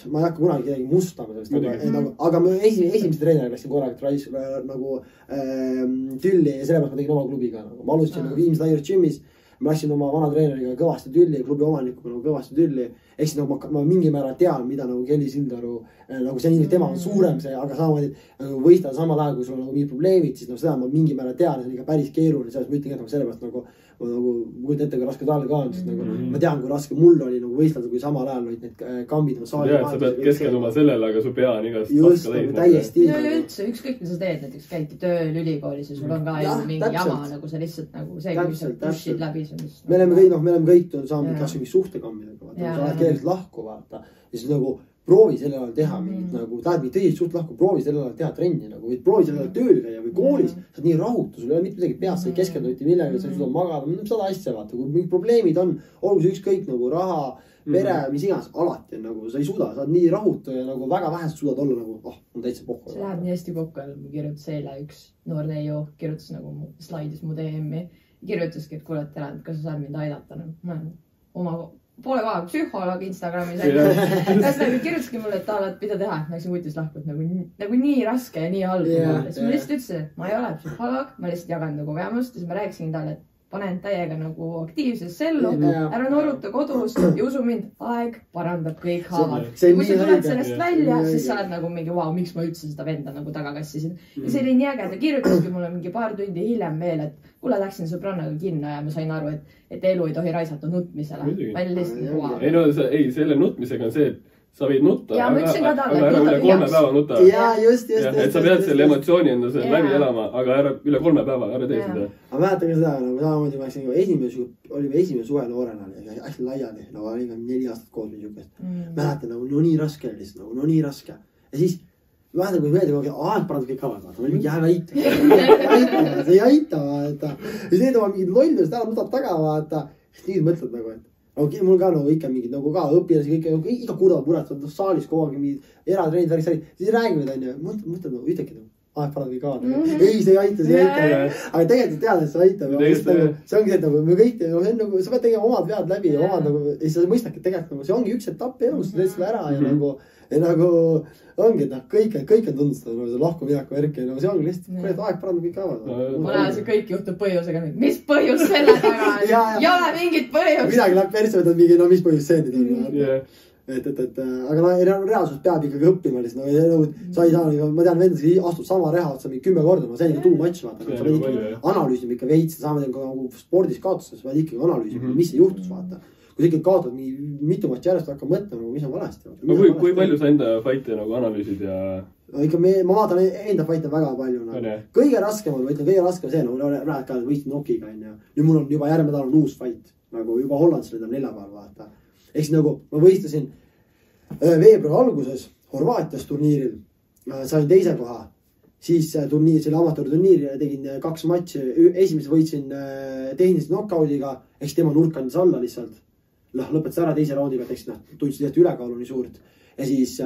ma ei hakka kunagi kedagi mustama sellest, aga ma esimese treeneri läksin korralikult nagu tülli ja sellepärast ma tegin oma klubiga. Ma alustasin nagu Viimsi Tigers Gymis, ma läksin oma vana treeneriga kõvasti tülli, klubi omanikuga nagu kõvasti tülli. Eks nagu ma mingi määral tean, mida nagu Kelly Sildaru, nagu see nii, tema on suurem see, aga samamoodi nagu võistleda samal ajal, kui sul on nagu mingid probleemid, siis seda ma mingi määral tean, see on ikka päris keeruline, selles ma ütlen, et sellepärast nagu kujutan ette, kui raske talle ka on, sest nagu ma tean, kui raske mul oli nagu võistleda, kui samal ajal olid need kambid. Ja, sa pead keskenduma sellele, aga su pea on igast paska leid. Täiesti. No üldse, ükskõik, mis sa teed, näiteks käidki tööl ülikoolis ja sul on ka mingi jama, nagu sa lihtsalt nagu see, kui sa pushid läbi. Me oleme kõik saanud kas mingi suhtekammidega, sa oled keelest lahku, vaata. Ja siis nagu proovi sellel ajal teha mingit nagu, tahad mingit tõsist suht lahku, proovi sellel ajal teha trenni nagu, või proovi sellel ajal tööl käia või koolis, sa oled nii rahutu, sul ei ole mitte midagi peas, sa ei keskenduti millega, sa ei suuda magada, seda asja vaata, kui mingid probleemid on, olgu see ükskõik nagu raha, pere, mis iganes, alati on nagu, sa ei suuda, sa oled nii rahutu ja nagu väga vähest suudad olla nagu, on täitsa pohku. See läheb nii hästi kokku, ma kirjutas eile üks noor neiu, kirjutas nagu slaidis mu DM-i, kirjutaski, et kuule, tere, kas sa saad mind aidata, oma poole koha psühholoog Instagramis. Ühesõnaga kirjutaski mulle, et tahad, mida teha, et läksin vutis lahku, et nagu nii raske ja nii halb. Siis ma lihtsalt ütlesin, et ma ei ole psühholoog, ma lihtsalt jagan nagu kogemust ja siis ma rääkisin talle, et panen täiega nagu aktiivsesse ellu, ära noruta kodus ja usu mind, aeg parandab kõik haavad. Ja kui sa tuled sellest välja, siis sa oled nagu mingi, vau, miks ma üldse seda venda nagu taga kassisin. Ja see oli nii äge, ta kirjutaski mulle mingi paar tundi hiljem veel, et kuule, läksin sõbrannaga kinno ja ma sain aru, et elu ei tohi raisata nutmisele. Ei, selle nutmisega on see, et sa võid nutta, aga ära üle 3 päeva nuta. Ja, just. Et sa pead selle emotsiooni enda selle läbi elama, aga ära üle 3 päeva, ära tee seda. Aga mäletan ka seda, nagu samamoodi ma läksin olime esimene suve noorena, hästi laiali, nagu olime 4 aastat koos või niisugust. Mäletan, nagu no nii raske oli lihtsalt, no nii raske. Ja siis mäletan, kui meeldib, aeg parandab kõik kavad, ma olin mingi aita, see ei aita, vaata. Ja siis need oma mingid lollust ära nutad taga, vaata. Nüüd mõtled nagu, et mul ka nagu ikka mingid nagu ka õpilasi kõik, iga kurva puretavad saalis kogu aeg mingid eratreenid, värgid, siis räägivad, on ju, mõtled nagu, ütlegi nagu, aeg parandab kõik kavad. Ei, see ei aita. Aga tegelikult tead, et see aitab. See ongi see, et nagu me kõik, sa pead tegema omad vead läbi ja omad nagu, ja sa mõistadki, et tegelikult see ongi üks etapp elus, sa teed seda ära ja nagu ongi, et kõik on tundustada, see lahku mineku värk ja see ongi lihtsalt, kuule, et aeg parandab kõik kavad. Ma näen, see kõik juhtub põhjusega. Mis põhjus selle taga on? Ei ole mingit põhjust. Midagi läheb persse, võtad mingi, no mis põhjus see nüüd on. Aga reaalsus peab ikkagi õppima lihtsalt. Sa ei saa, ma tean, vendas astub sama reha otsa 10 korda, ma see on ikka too much, vaata. Sa pead ikka analüüsima ikka veits, saame spordis kaotustes, vaid ikkagi analüüsima, mis see juhtus, vaata. Kui sa ikka kaotad mitu matši järjest, hakkab mõtlema, mis on valesti. Kui palju sa enda faite nagu analüüsid ja... Ikka ma vaatan enda faite väga palju. Kõige raskem on, ma ütlen, kõige raskem see, rääd ka võistin Nokiga. Nüüd mul on juba järgmine nädal uus fait, nagu juba Hollandis oli 4 päeval, vaata. Eks nagu ma võistlesin veebruari alguses Horvaatias turniiril, sain 2. koha, siis turniir, selle amatöörturniiri tegin 2 matši, esimese võitsin tehnilise knockoudiga, eks tema nurk andis alla lihtsalt, lõpetas ära 2. raundiga, eks tundsid lihtsalt ülekaalu nii suurt ja siis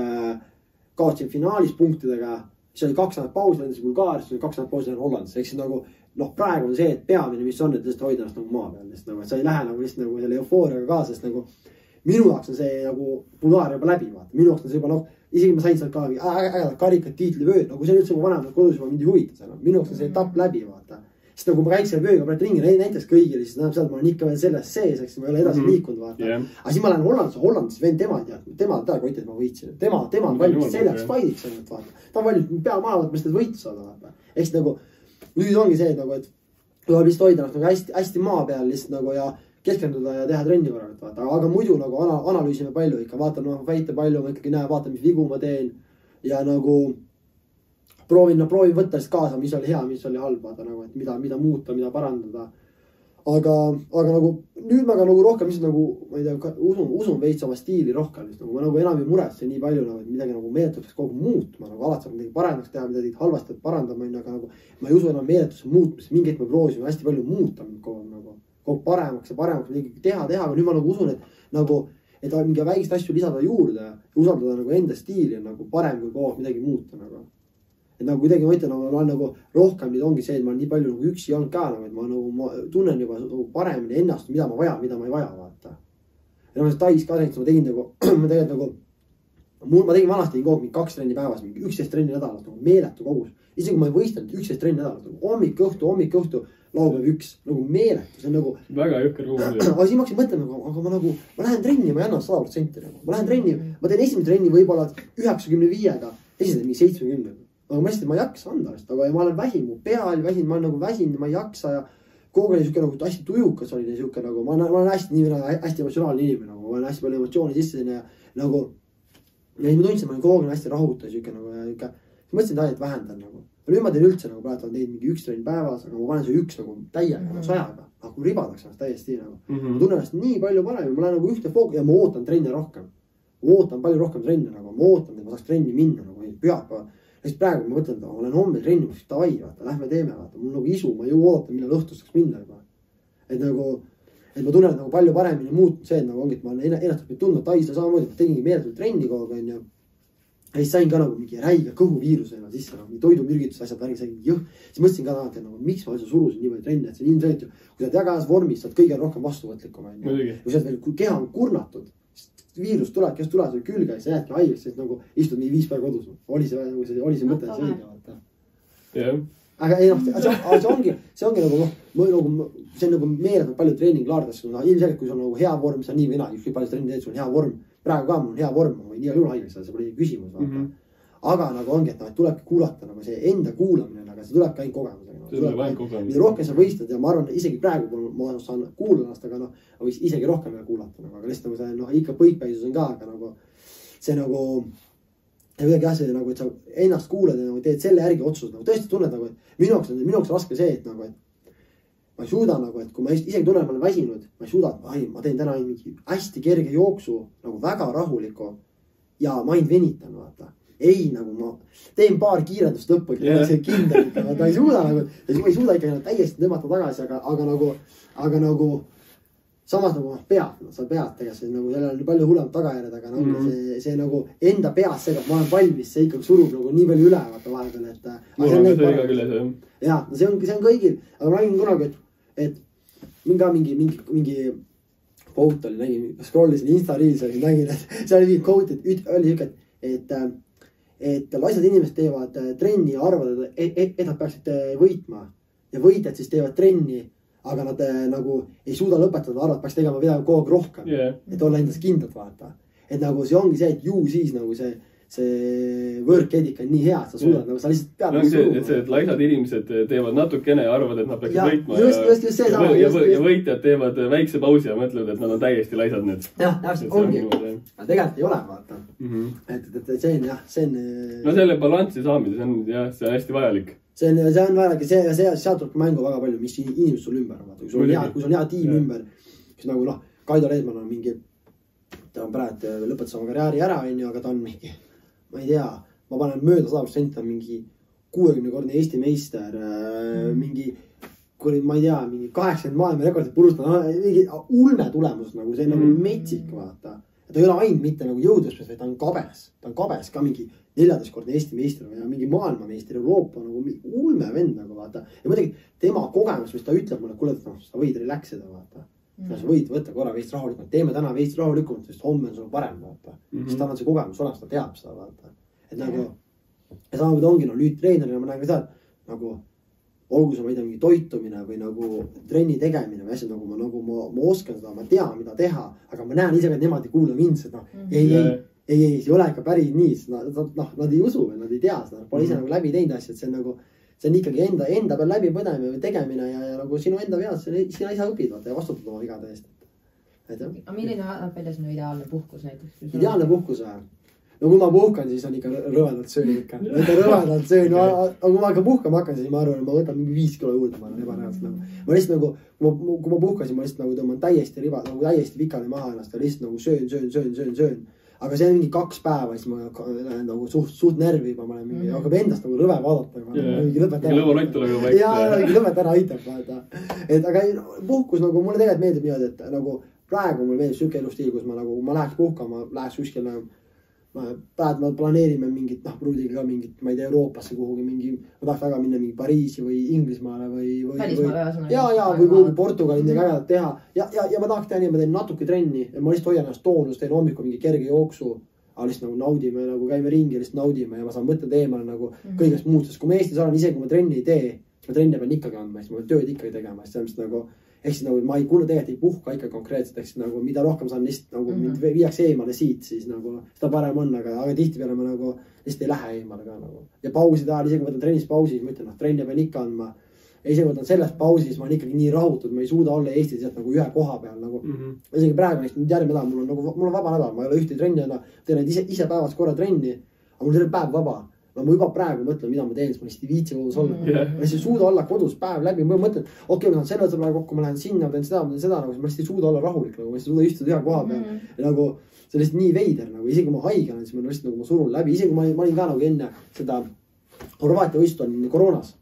kaotsin finaalis punktidega, siis oli 2 nädalat pausi, lendasin Bulgaarias, siis oli 2 nädalat pausi Hollandis, eks nagu praegu on see, et peamine, mis on, et lihtsalt hoida ennast nagu maa peal, et sa ei lähe nagu lihtsalt nagu selle eufooriaga kaasa, sest nagu minu jaoks on see nagu Bulgaaria juba läbi, vaata. Minu jaoks on see juba isegi ma sain sealt ka ägedad karikad, tiitlivööd, nagu see on üldse vanemad kodus juba mind ei huvita seal. Minu jaoks on see etapp läbi, vaata. Sest nagu ma käiks selle vööga praegu ringi, näiteks kõigile, siis tähendab seda, et ma olen ikka veel selles sees, eks ma ei ole edasi liikunud, vaata. Aga siis ma lähen Hollandis, vend tema kotti, et ma võitsin. Tema on valmis selleks faidiks, vaata. Ta on valmis pea maha võtma, seda võitu saada, vaata. Eks nagu, nüüd ongi see, et tuleb lihtsalt hoida nagu hästi maa peal lihtsalt nagu ja keskenduda ja teha trenni korralt, vaata. Aga muidu nagu analüüsime palju ikka, vaatan väite palju, ma ikkagi näen, vaatan, mis vigu ma teen ja nagu proovin võtta siis kaasa, mis oli hea, mis oli halb, vaata nagu, et mida muuta, mida parandada. aga nagu nüüd ma ka nagu rohkem lihtsalt nagu, ma ei tea, usun veits oma stiili rohkem, nagu ma nagu enam ei muretse nii palju nagu, et midagi nagu meeletuks kogu muutma, nagu alati saab midagi paremaks teha, midagi halvasti parandama, aga nagu ma ei usu enam meeletuse muutmisse, mingit me proovime hästi palju muuta kogu paremaks ja paremaks midagi teha, aga nüüd ma nagu usun, et mingi väikest asju lisada juurde ja usaldada nagu enda stiili on nagu parem kui kogu midagi muuta nagu. Et nagu kuidagi ma ütlen, ma olen nagu rohkem nüüd ongi see, et ma olen nii palju nagu üksi olnud ka, et ma tunnen juba nagu paremini ennast, mida ma vajan, mida ma ei vaja, vaata. Ja ma Tais ka näiteks, ma tegin nagu, ma tegin vanasti kogu mingi 2 trenni päevas, mingi 11 trenni nädalas, nagu meeletu kogus. Isegi kui ma ei võistanud 11 trenni nädalas, nagu hommik õhtu, laupäev 1, nagu meeletu, see on nagu... Väga jõkker ruum. Aga siis ma hakkasin mõtlema, aga ma lähen trenni, ma ei anna 100% nagu. Ma lähen trenni, ma teen esimene trenni võib-olla 95-ga, esimene mingi 70. Aga ma hästi, ma ei jaksa anda, aga ma olen väsin, mu pea oli väsin, ma olen nagu väsin, ma ei jaksa ja kogu oli siuke nagu hästi tujukas oli siuke nagu, ma olen hästi emotsionaalne inimene, nagu ma olen hästi palju emotsiooni sisse ja nagu ja siis ma tundsin, ma olen kogu hästi rahuta siuke nagu ja ikka, mõtlesin et vähendan nagu. Nüüd ma teen üldse nagu praegu teinud mingi 1 trenni päevas, aga ma panen see 1 nagu täiega, 100-ga, nagu ribadaks ennast täiesti nagu. Ma tunnen ennast nii palju parem ja ma lähen nagu ühte fookus ja ma ootan trenne rohkem. Ma ootan palju rohkem trenne nagu, ma ootan, et ma saaks trenni minna nagu pühapäeva. Siis praegu ma mõtlen, et ma olen homme trenni, siis davai, vaata, lähme teeme, vaata. Mul nagu isu, ma ju ootan, millal õhtust saaks minna juba. Et ma tunnen nagu palju paremini muutnud see, et nagu ongi, et ma olen ennast tundnud Taisla samamoodi, et tegingi meeletult trenni kogu aeg, ja siis sain ka nagu mingi räige kõhuviirusena sisse, nagu toidumürgitus asjad värgi sain jõh. Siis mõtlesin ka et nagu, miks ma surusin nii palju trenni, et see on ilmselt ju, kui sa oled väga vormis, saad kõige rohkem vastuvõtlikum. Kui sa oled veel keha on kurnatud, viirus tuleb, kes tuleb sul külge ja sa jäädki haigeks, sest nagu istud nii 5 päeva kodus. Oli see mõte, see õige, vaata. Jah. Aga ei see ongi nagu, see on nagu meeletult palju treeninglaardest, ilmselgelt kui sul on nagu hea vorm, sa nii või naa, ükskõik palju trenni teed, sul on hea vorm. Praegu ka mul on hea vorm, ma võin nii juhul haigeks, see pole küsimus, vaata. Aga nagu ongi, et tulebki kuulata nagu see enda kuulamine, aga see tulebki ainult kogemusega. Mida rohkem sa võistled ja ma arvan, isegi praegu ma saan kuulanast, aga võiks isegi rohkem veel kuulata. Aga lihtsalt nagu see ikka põikpäisus on ka, aga nagu see nagu ja kuidagi jah, see nagu, et sa ennast kuulad ja nagu teed selle järgi otsust. Nagu tõesti tunned nagu, et minu jaoks raske see, et nagu, et ma ei suuda nagu, et kui ma isegi tunnen, ma olen väsinud, ma ei suuda, et ma teen täna mingi hästi kerge jooksu nagu väga rahuliku ja ma ainult venitan, vaata. Ei, nagu ma teen paar kiirendust lõppu, et see kindel ikka, ta ei suuda nagu, ma ei suuda ikka täiesti tõmmata tagasi, aga nagu samas nagu sa pead tegelikult, nagu jälle on palju hullem tagajärjed, aga nagu see nagu enda peas see, ma olen valmis, see ikkagi surub nagu nii palju üle, vaata vahepeal, et mul on see iga küll, jah. Jah, see on kõigil, aga ma nägin kunagi, et mingi quote oli, nägin, scrollisin Insta-reels, nägin, et see oli mingi quote, oli siuke, et laisad inimesed teevad trenni ja arvavad, et nad peaksid võitma ja võitjad siis teevad trenni, aga nad nagu ei suuda lõpetada, arvad, peaks tegema midagi kogu aeg rohkem, et olla endas kindlad, vaata. Et nagu see ongi see, et ju siis nagu see work edika on nii hea, et sa suudad, nagu sa lihtsalt pead nagu suruma. Et laisad inimesed teevad natukene ja arvavad, et nad peaksid võitma just see sama. Ja võitjad teevad väikse pausi ja mõtlevad, et nad on täiesti laisad need. Jah, täpselt ongi. Aga tegelikult ei ole, vaata. Et see on jah, see on... No selle balanssi saamine, see on hästi vajalik. See on vajalik ja sealt tuleb mängu väga palju, mis inimesed sul ümber on. Kui sul on hea tiim ümber, siis nagu Kaido Reedman on mingi, ta on praegu lõpetas oma karjääri ära, aga ta on mingi, ma ei tea, ma panen mööda 100%, ta on mingi 60-kordne Eesti meister, mingi, ma ei tea, mingi 80 maailma rekordit purustada, mingi ulme tulemus, nagu see on nagu metsik, vaata. Ta ei ole ainult mitte nagu jõudvõspes, vaid ta on kabes. Ta on kabes ka mingi 14-kordne Eesti meister ja mingi maailmameister Euroopa nagu ulme vend nagu, vaata. Ja muidugi tema kogemus, mis ta ütleb mulle, kuule, sa võid relaxida, vaata. Sa võid võtta korra veist rahulikult, teeme täna veist rahulikult, sest homme on sul parem, vaata. Sest tal on see kogemus olemas, ta teab seda, vaata. Et nagu, ja samamoodi ongi, nüüd treenerina ma näen ka seda, nagu, olgu see, ma ei tea, mingi toitumine või nagu trenni tegemine või asjad, nagu ma oskan seda, ma tean, mida teha, aga ma näen ise, et nemad ei kuula mind, sest ei, see ei ole ikka päris nii, sest nad ei usu, nad ei tea seda, pole ise nagu läbi teinud asjad, see on nagu, see on ikkagi enda peal läbi põdemine või tegemine ja nagu sinu enda veas, sina ise õpid vaata ja vastutad oma vigade eest. Aga milline näeb välja sinu ideaalne puhkus näiteks? Ideaalne puhkus või? no kui ma puhkan, siis on ikka rõvedalt söön ikka. Rõvedalt söön, aga kui ma hakkan puhkama hakkan, siis ma arvan, et ma võtan mingi 5 kilo juurde, ma olen ebareaalselt nagu. Ma lihtsalt nagu, kui ma puhkasin, ma lihtsalt nagu tõmban täiesti riba, nagu täiesti pikali maha ennast ja lihtsalt nagu söön. Aga see on mingi 2 päeva, siis ma lähen nagu suht närvi juba, ma olen mingi, hakkab endast nagu rõve vaadata. Lõpet ära aitab, vaata. Et aga puhkus nagu, mulle tegelikult meeldib niimoodi, et nagu praegu mulle meeldib siuke elustiil, kus ma nagu, ma läheks puhkama, läheks kuskile, praegu me planeerime mingit, pruudiga ka mingit, ma ei tea, Euroopasse kuhugi mingi, ma tahaks väga minna mingi Pariisi või Inglismaale või või kuhugi Portugali midagi ägedat teha. Ja ma tahaks teha nii, ma teen natuke trenni ja ma lihtsalt hoian ennast toonus, teen hommikul mingi kerge jooksu, aga lihtsalt nagu naudime, nagu käime ringi ja lihtsalt naudime ja ma saan mõtled eemale nagu kõigest muust, sest kui ma Eestis olen, isegi kui ma trenni ei tee, siis ma trenni pean ikkagi andma, siis ma tööd ikkagi tegema, siis sellest nagu ehk siis nagu ma ei kuule tegelikult ei puhka ikka konkreetselt, ehk siis nagu mida rohkem saan lihtsalt nagu mind viiakse eemale siit, siis nagu seda parem on, aga tihtipeale ma nagu lihtsalt ei lähe eemale ka nagu. Ja pauside ajal, isegi võtan trennis pausi, siis ma ütlen, trenni pean ikka andma. Ja isegi võtan selles pausis, ma olen ikkagi nii rahutud, ma ei suuda olla Eestis nagu ühe koha peal nagu. Isegi praegu nüüd järgmine nädal, mul on vaba nädal, ma ei ole ühte trenni, teen ise päevas korra trenni, aga mul terve päev vaba. No ma juba praegu mõtlen, mida ma teen, siis ma lihtsalt ei viitsi kodus olla. Ma lihtsalt ei suuda olla kodus päev läbi. Ma mõtlen, okei, ma saan selle sõbra kokku, ma lähen sinna, ma teen seda, ma lihtsalt ei suuda olla rahulik. Ma lihtsalt ei suuda istuda ühe koha peal. Ja nagu see on lihtsalt nii veider. Isegi kui ma haige olen, siis ma lihtsalt nagu ma surun läbi. Isegi kui ma olin ka nagu enne seda Horvaatia võistlust olin koroonas.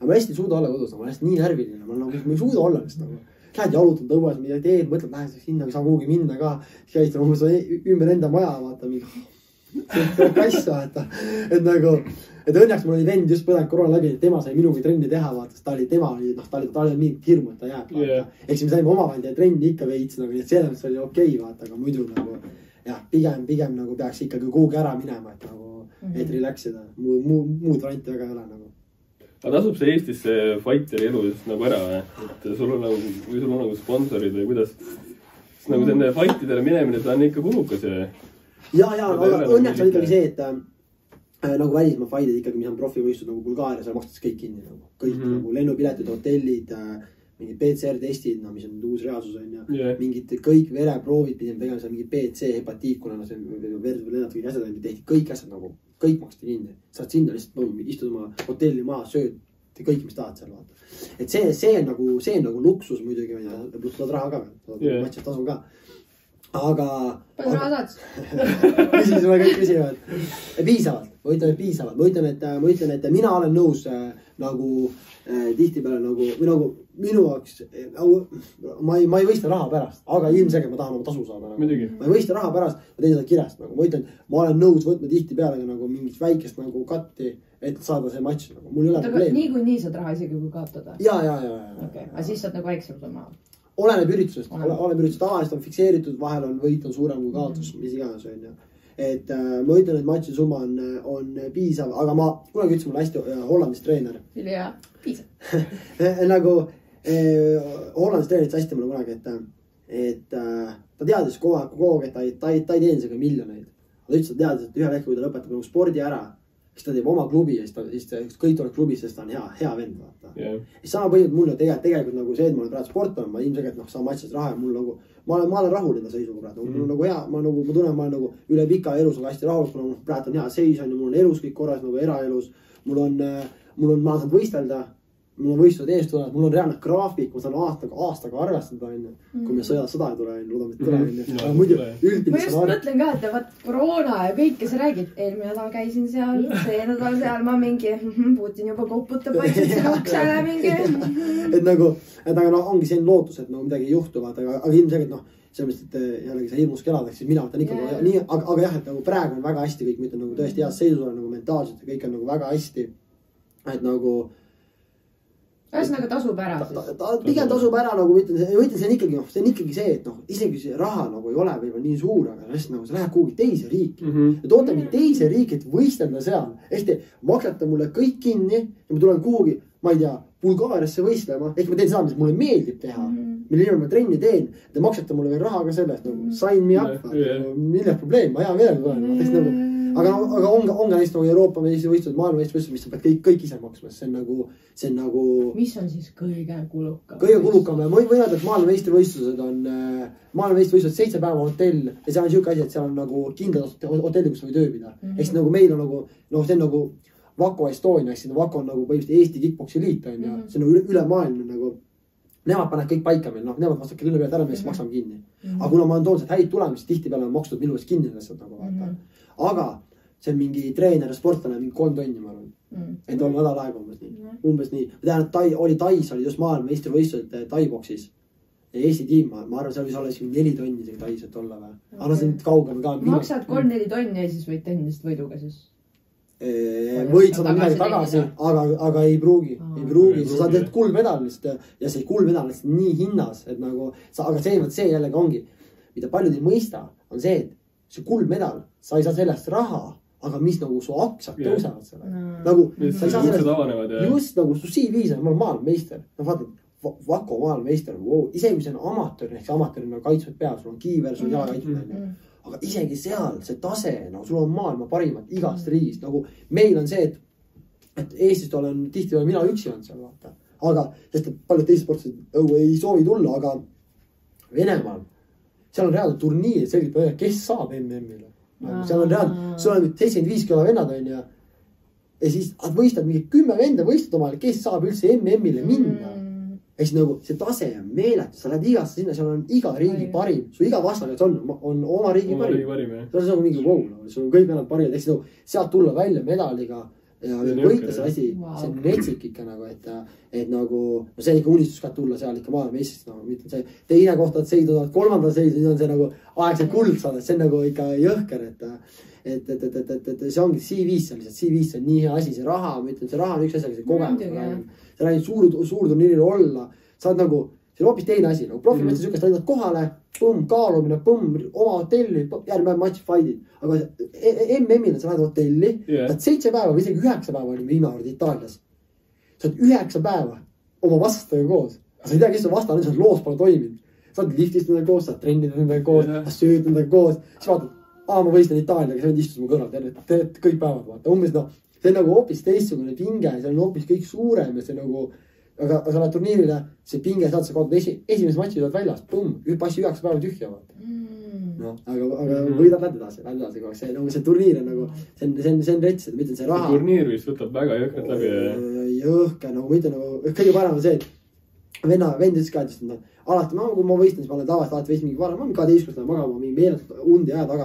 Ja ma lihtsalt ei suuda olla kodus. Ma lihtsalt nii närviline. Ma ei suuda olla lihtsalt. Lähed jalutad õues, mida teed, mõtled, lähed sinna, saan kuhugi minna ka. Siis käid ümber enda maja, vaata mingi kass vaata, et nagu, et õnneks mul oli vend just põdenud koroona läbi, et tema sai minugi trenni teha, vaata, sest ta oli mingit hirmu, et ta jääb, vaata. Eks me saime omavahel teha trenni ikka veits, nagu, nii et selles oli okei, vaata, aga muidu nagu, jah, pigem nagu peaks ikkagi kuhugi ära minema, et nagu, et relaxida, muud varianti väga ei ole nagu. Aga tasub see Eestis see fighteri elu just nagu ära, et sul on nagu sponsorid või kuidas, siis nagu selle fightidele minemine, ta on ikka kulukas ja ja, aga õnneks on ikkagi see, et nagu välismaa fightid ikkagi, mis on profivõistud nagu Bulgaaria, seal makstakse kõik kinni nagu. Kõik nagu lennupiletid, hotellid, mingid PCR-testid, mis on uus reaalsus on ja mingid kõik vereproovid pidime tegema seal mingi PC, hepatiit, kuna see lennad kõik asjad tehti, kõik asjad nagu, kõik maksti kinni. Saad sinna lihtsalt istud oma hotelli maha, sööd kõik, mis tahad seal vaata. Et see on nagu luksus muidugi, pluss saad raha ka, matsist tasun ka. Aga palju raha saad? Küsisime kõik küsivad. Piisavalt. Ma ütlen, et mina olen nõus nagu tihtipeale nagu, või nagu minu jaoks, ma ei võista raha pärast, aga ilmselgelt ma tahan oma tasu saada. Nagu. Ma ei võista raha pärast, ma teen seda kirjast. Nagu. Ma ütlen, ma olen nõus võtma tihtipeale nagu mingit väikest nagu katti, et saada see matš. Nagu. Mul ei ole probleem. Nii kui nii saad raha isegi kui kaotada? Ja. Okay. Aga siis saad nagu väiksem summa? Oleneb üritusest, tavaliselt on fikseeritud, vahel on võit on suurem kui kaotus, mis iganes on ja. Et ma ütlen, et matši summa on piisav, aga ma kunagi ütlesin mulle hästi Hollandis treener. Ja, piisav. Nagu Hollandis treenerit hästi mulle kunagi, et ta teadis kogu aeg, et ta ei teeni seda miljoneid. Ta ütles, et teadis, et ühel hetkel, kui ta lõpetab nagu spordi ära, siis ta teeb oma klubi ja siis kõik tuleb klubis, sest ta on hea vend. Siis sama põhjus mulle tegelikult nagu see, et ma olen praegu sportlane, ma ilmselgelt saan matšist raha ja mul nagu, ma olen rahul enda seisuga praegu. Mul on nagu hea, ma tunnen, ma olen nagu üle pika elus on hästi rahul, kuna praegu on hea seis ja mul on elus kõik korras nagu eraelus. Mul on, ma saan võistelda, mul on võistlused ees tulevad, mul on reaalne graafik, ma saan aastaga arvestada, kui me sõda ei tule, loodame, et tule. Aga muidu üldiselt ma just mõtlen ka, et vaat koroona ja kõik, kes räägib, eelmine nädal käisin seal, see nädal seal, ma mingi Putin juba koputab vaikselt siin uksele mingi. Et nagu, ongi see lootus, et midagi ei juhtu, aga ilmselgelt selles mõttes, et jällegi see hirmus keladaks, siis mina võtan ikka nii, aga jah, et nagu praegu on väga hästi kõik, ma ütlen nagu tõesti heas seisus olen nagu mentaalselt ja kõik on nagu väga hästi, et nagu ühesõnaga tasub ära siis? Pigem tasub ära, nagu ma ütlen, see on ikkagi see, et isegi see raha nagu ei ole võib-olla nii suur, aga nagu sa lähed kuhugi teise riiki. Ja toote mind teise riiki, et võistelda seal. Ehk te maksate mulle kõik kinni ja ma tulen kuhugi, ma ei tea, Bulgaariasse võistlema. Ehk ma teen seda, mis mulle meeldib teha. Mille ilma ma trenni teen. Te maksate mulle veel raha ka sellest. Sign me up. Milles probleem? Ma hea meelega tulen. aga on ka näiteks nagu Euroopa meistrivõistlused, maailmameistrivõistlused, mis sa pead kõik ise maksma. See on nagu... Mis on siis kõige kulukam? Kõige kulukam. Ma võin öelda, et maailmameistrivõistlused 7 päeva hotell ja seal on siuke asi, et seal on nagu kindlad hotelli, kus või töö pida. Eks nagu meil on nagu, see on nagu Vako Estonia, eks Vako on nagu põhimõtteliselt Eesti kickboksi liit on ja see on üle maailma nagu nemad panevad kõik paika meil, nemad vastavad küll pealt ära, me siis maksame kinni. Aga kuna ma olen toonud häid tulemusi, tihtipeale on makstud minu eest kinni lihtsalt nagu vaata. Aga see on mingi treener ja sportlane, mingi 3 tonni ma arvan. Et on nädal aega umbes nii. Ma tean, et Tais oli just maailma meistrivõistlused Tai-boksis. Ja Eesti tiim, ma arvan, seal võis olla 4 tonni isegi Tais, et olla või. Aga see on kaugem ka. Maksad 3-4 tonni ja siis võid tehnilist võiduga siis. Võid saada midagi tagasi, aga ei pruugi. Sa saad teed kuldmedalist ja see kuldmedalist nii hinnas, et nagu, aga see jällegi ongi, mida paljud ei mõista, on see, et see kuldmedal, sa ei saa sellest raha, aga mis nagu su aktsiad tõusevad selle. Nagu, sa ei saa sellest, just nagu su CV-s on, ma olen maailmameister. No vaata, Vako maailmameister, isegi kui see on amatöör, ehk see amatöör on kaitsmed peal, sul on kiiver, sul on jala kaitsmed. Aga isegi seal see tase, nagu sul on maailma parimad igast riigist, nagu meil on see, et Eestist olen tihti mina üksi olnud seal vaata. Aga, sest paljud teised sportlased ei soovi tulla, aga Venemaal, seal on reaalselt turniir, selgelt, kes saab MM-ile. Seal on reaalselt, sul on 75 kilo vennad on ja siis võistad mingi 10 venda võistad omale, kes saab üldse MM-ile minna. Ehk siis nagu see tase on meeletu, sa lähed igasse sinna, seal on iga riigi parim, su iga vastane on oma riigi parim. See on nagu mingi sul on kõik vennad parimad, ehk siis nagu sealt tulla välja medaliga ja võita see asi, see on metsik ikka nagu, et nagu, no see on ikka unistus ka tulla seal ikka maailmeistrist, nagu mitte see teine kohta, et seiduvad 3. seisu, siis on see nagu aegselt kuld saada, see on nagu ikka jõhker, et see ongi CV-s seal lihtsalt, CV-s on nii hea asi, see raha, ma ütlen, see raha on üks asi, aga see kogemus, sa räägid suur turniiril olla, sa oled nagu, see on hoopis teine asi, nagu profimetsas sükast läinud kohale, kaalumine, oma hotelli, järgmine match fight'id, aga MM-il sa lähed hotelli, saad 7 päeva või isegi 9 päeva olime viimavard Itaalias. Sa oled 9 päeva oma vastastega koos, sa ei tea, kes on vastane, sa loos pole toiminud, sa oled liftist nendega koos, sa oled trennid nendega koos, sa sööd nendega koos, siis vaatad, ma võistan Itaaliaga, sa istus mu kõrval, teed kõik päevad, vaata, umbes noh, see on nagu hoopis teistsugune pinge, see on hoopis kõik suurem ja see nagu, aga sa lähed turniirile, see pinge saad, sa kaotad esimese matši saad väljas, passi 9 päeva tühja, vaata. No, aga võidad läbi edasi, see turniir on nagu, see on rets, et ma ütlen, see raha. See turniir vist võtab väga jõhkrat läbi. Jõhker, nagu ma ütlen, kõige parem on see, et vend ütles ka, et alati, kui ma võistan, siis ma olen tavaliselt alati võist mingi varem, ma olen 12 magama mingi meeletult und ja aja taga,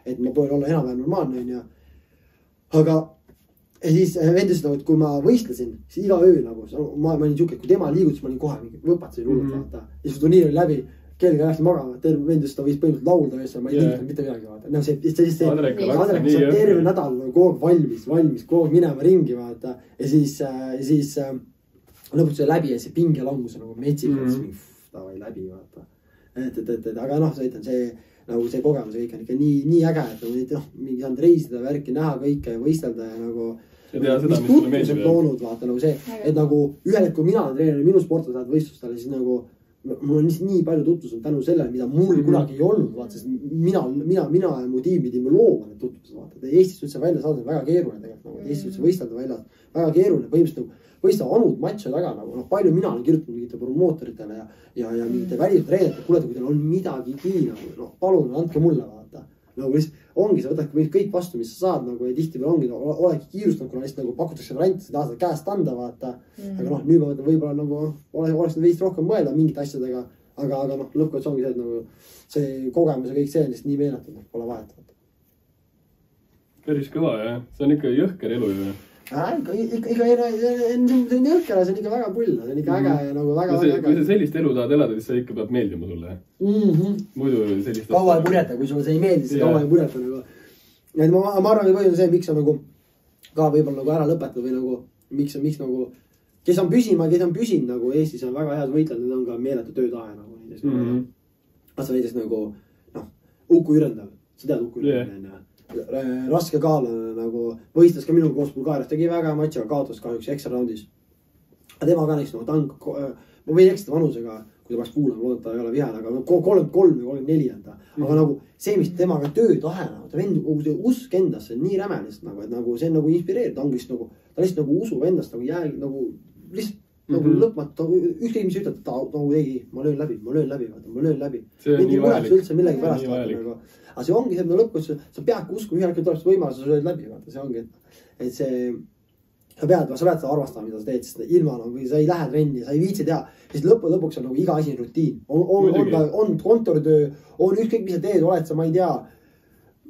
et ma proovin olla enam-vähem normaalne, on ja. Aga ja siis vend ütles, et kui ma võistlesin, siis iga öö nagu, ma olin siuke, kui tema liigutas, ma olin kohe mingi võpatasin hullult vaata. Ja siis turniir oli läbi, kellega läksin magama, vend ütles, ta võis põhimõtteliselt laulda ja ma ei liigutanud mitte midagi vaata. No see Andrek on terve nädal kogu valmis, kogu minema ringi vaata. Ja siis lõpuks oli läbi ja see pingelangus nagu metsikas, davai läbi vaata. Aga noh, sa ütlen, nagu see kogemus kõik on ikka nii äge, et mingi saanud reisida, värki näha kõike ja võistelda ja nagu mis tutvus on toonud, vaata nagu see, et nagu ühel hetkel mina olen treener, minu sportlased lähevad võistlustele, siis nagu mul on nii palju tutvused tänu sellele, mida mul kunagi ei olnud, vaata, sest mina ja mu tiim pidime looma need tutvused, vaata. Eestist üldse välja saada on väga keeruline tegelikult, Eestis üldse võistelda välja, väga keeruline, põhimõtteliselt võista anud matše taga, nagu palju mina olen kirjutanud mingite promootoritele ja mingite välistreeneritele, kuule, kui teil on midagigi, nagu, palun, andke mulle, vaata. Nagu ongi, sa võtadki kõik vastu, mis sa saad, nagu, ja tihti veel ongi, olegi kiirustanud, kuna lihtsalt nagu pakutakse variante, sa tahad käest anda, vaata. Aga noh, nüüd ma võtan võib-olla nagu, oleks veist rohkem mõelda mingite asjadega, aga noh, lõppkots ongi see, et nagu see kogemus ja kõik see on lihtsalt nii meeletud, pole vahet. Päris kõva, jah. See on ikka jõhker elu ju. Ikka see on jõhker, see on ikka väga pull, see on ikka äge ja nagu väga äge. Kui sa sellist elu tahad elada, siis see ikka peab meeldima sulle. Muidu sellist... Kaua ei purjeta, kui sulle see ei meeldi, siis kaua ei purjeta nagu. Ma arvan, et põhjus on see, miks on nagu ka võib-olla nagu ära lõpetada või nagu, miks nagu, kes on püsinud nagu Eestis on väga head võitled, need on ka meeletu töötahe nagu. Vaata näiteks nagu, noh, Uku Jürendal, sa tead Uku Jürendal, raske kaal nagu võistles ka minuga koos Bulgaarias, tegi väga matši, aga kaotas kahjuks ekstra raundis. Aga tema ka näiteks nagu, ma võin eksida vanusega kui ta peaks kuulama, loodata ei ole vihane, aga 33 või 34 on ta. Aga nagu see, mis temaga töötahe, ta vend, see usk endasse on nii räme lihtsalt nagu, et nagu see on nagu inspireeriv, ta ongi nagu, ta lihtsalt nagu usub endast nagu nagu lihtsalt nagu lõpmatu, ükskõik mis ütleb, ta nagu tegi, ma löön läbi. see on nii vajalik. Üldse millegi pärast. Aga see ongi see, lõpuks sa peadki uskuma, ühel hetkel tuleb võimalus, sa lööd läbi, vaata, see ongi, et see sa pead seda arvastama, mida sa teed, sest ilma nagu sa ei lähe trenni, sa ei viitsi teha, sest lõpuks on nagu iga asi rutiin. On kontoritöö, on ükskõik, mis sa teed, oled sa, ma ei tea,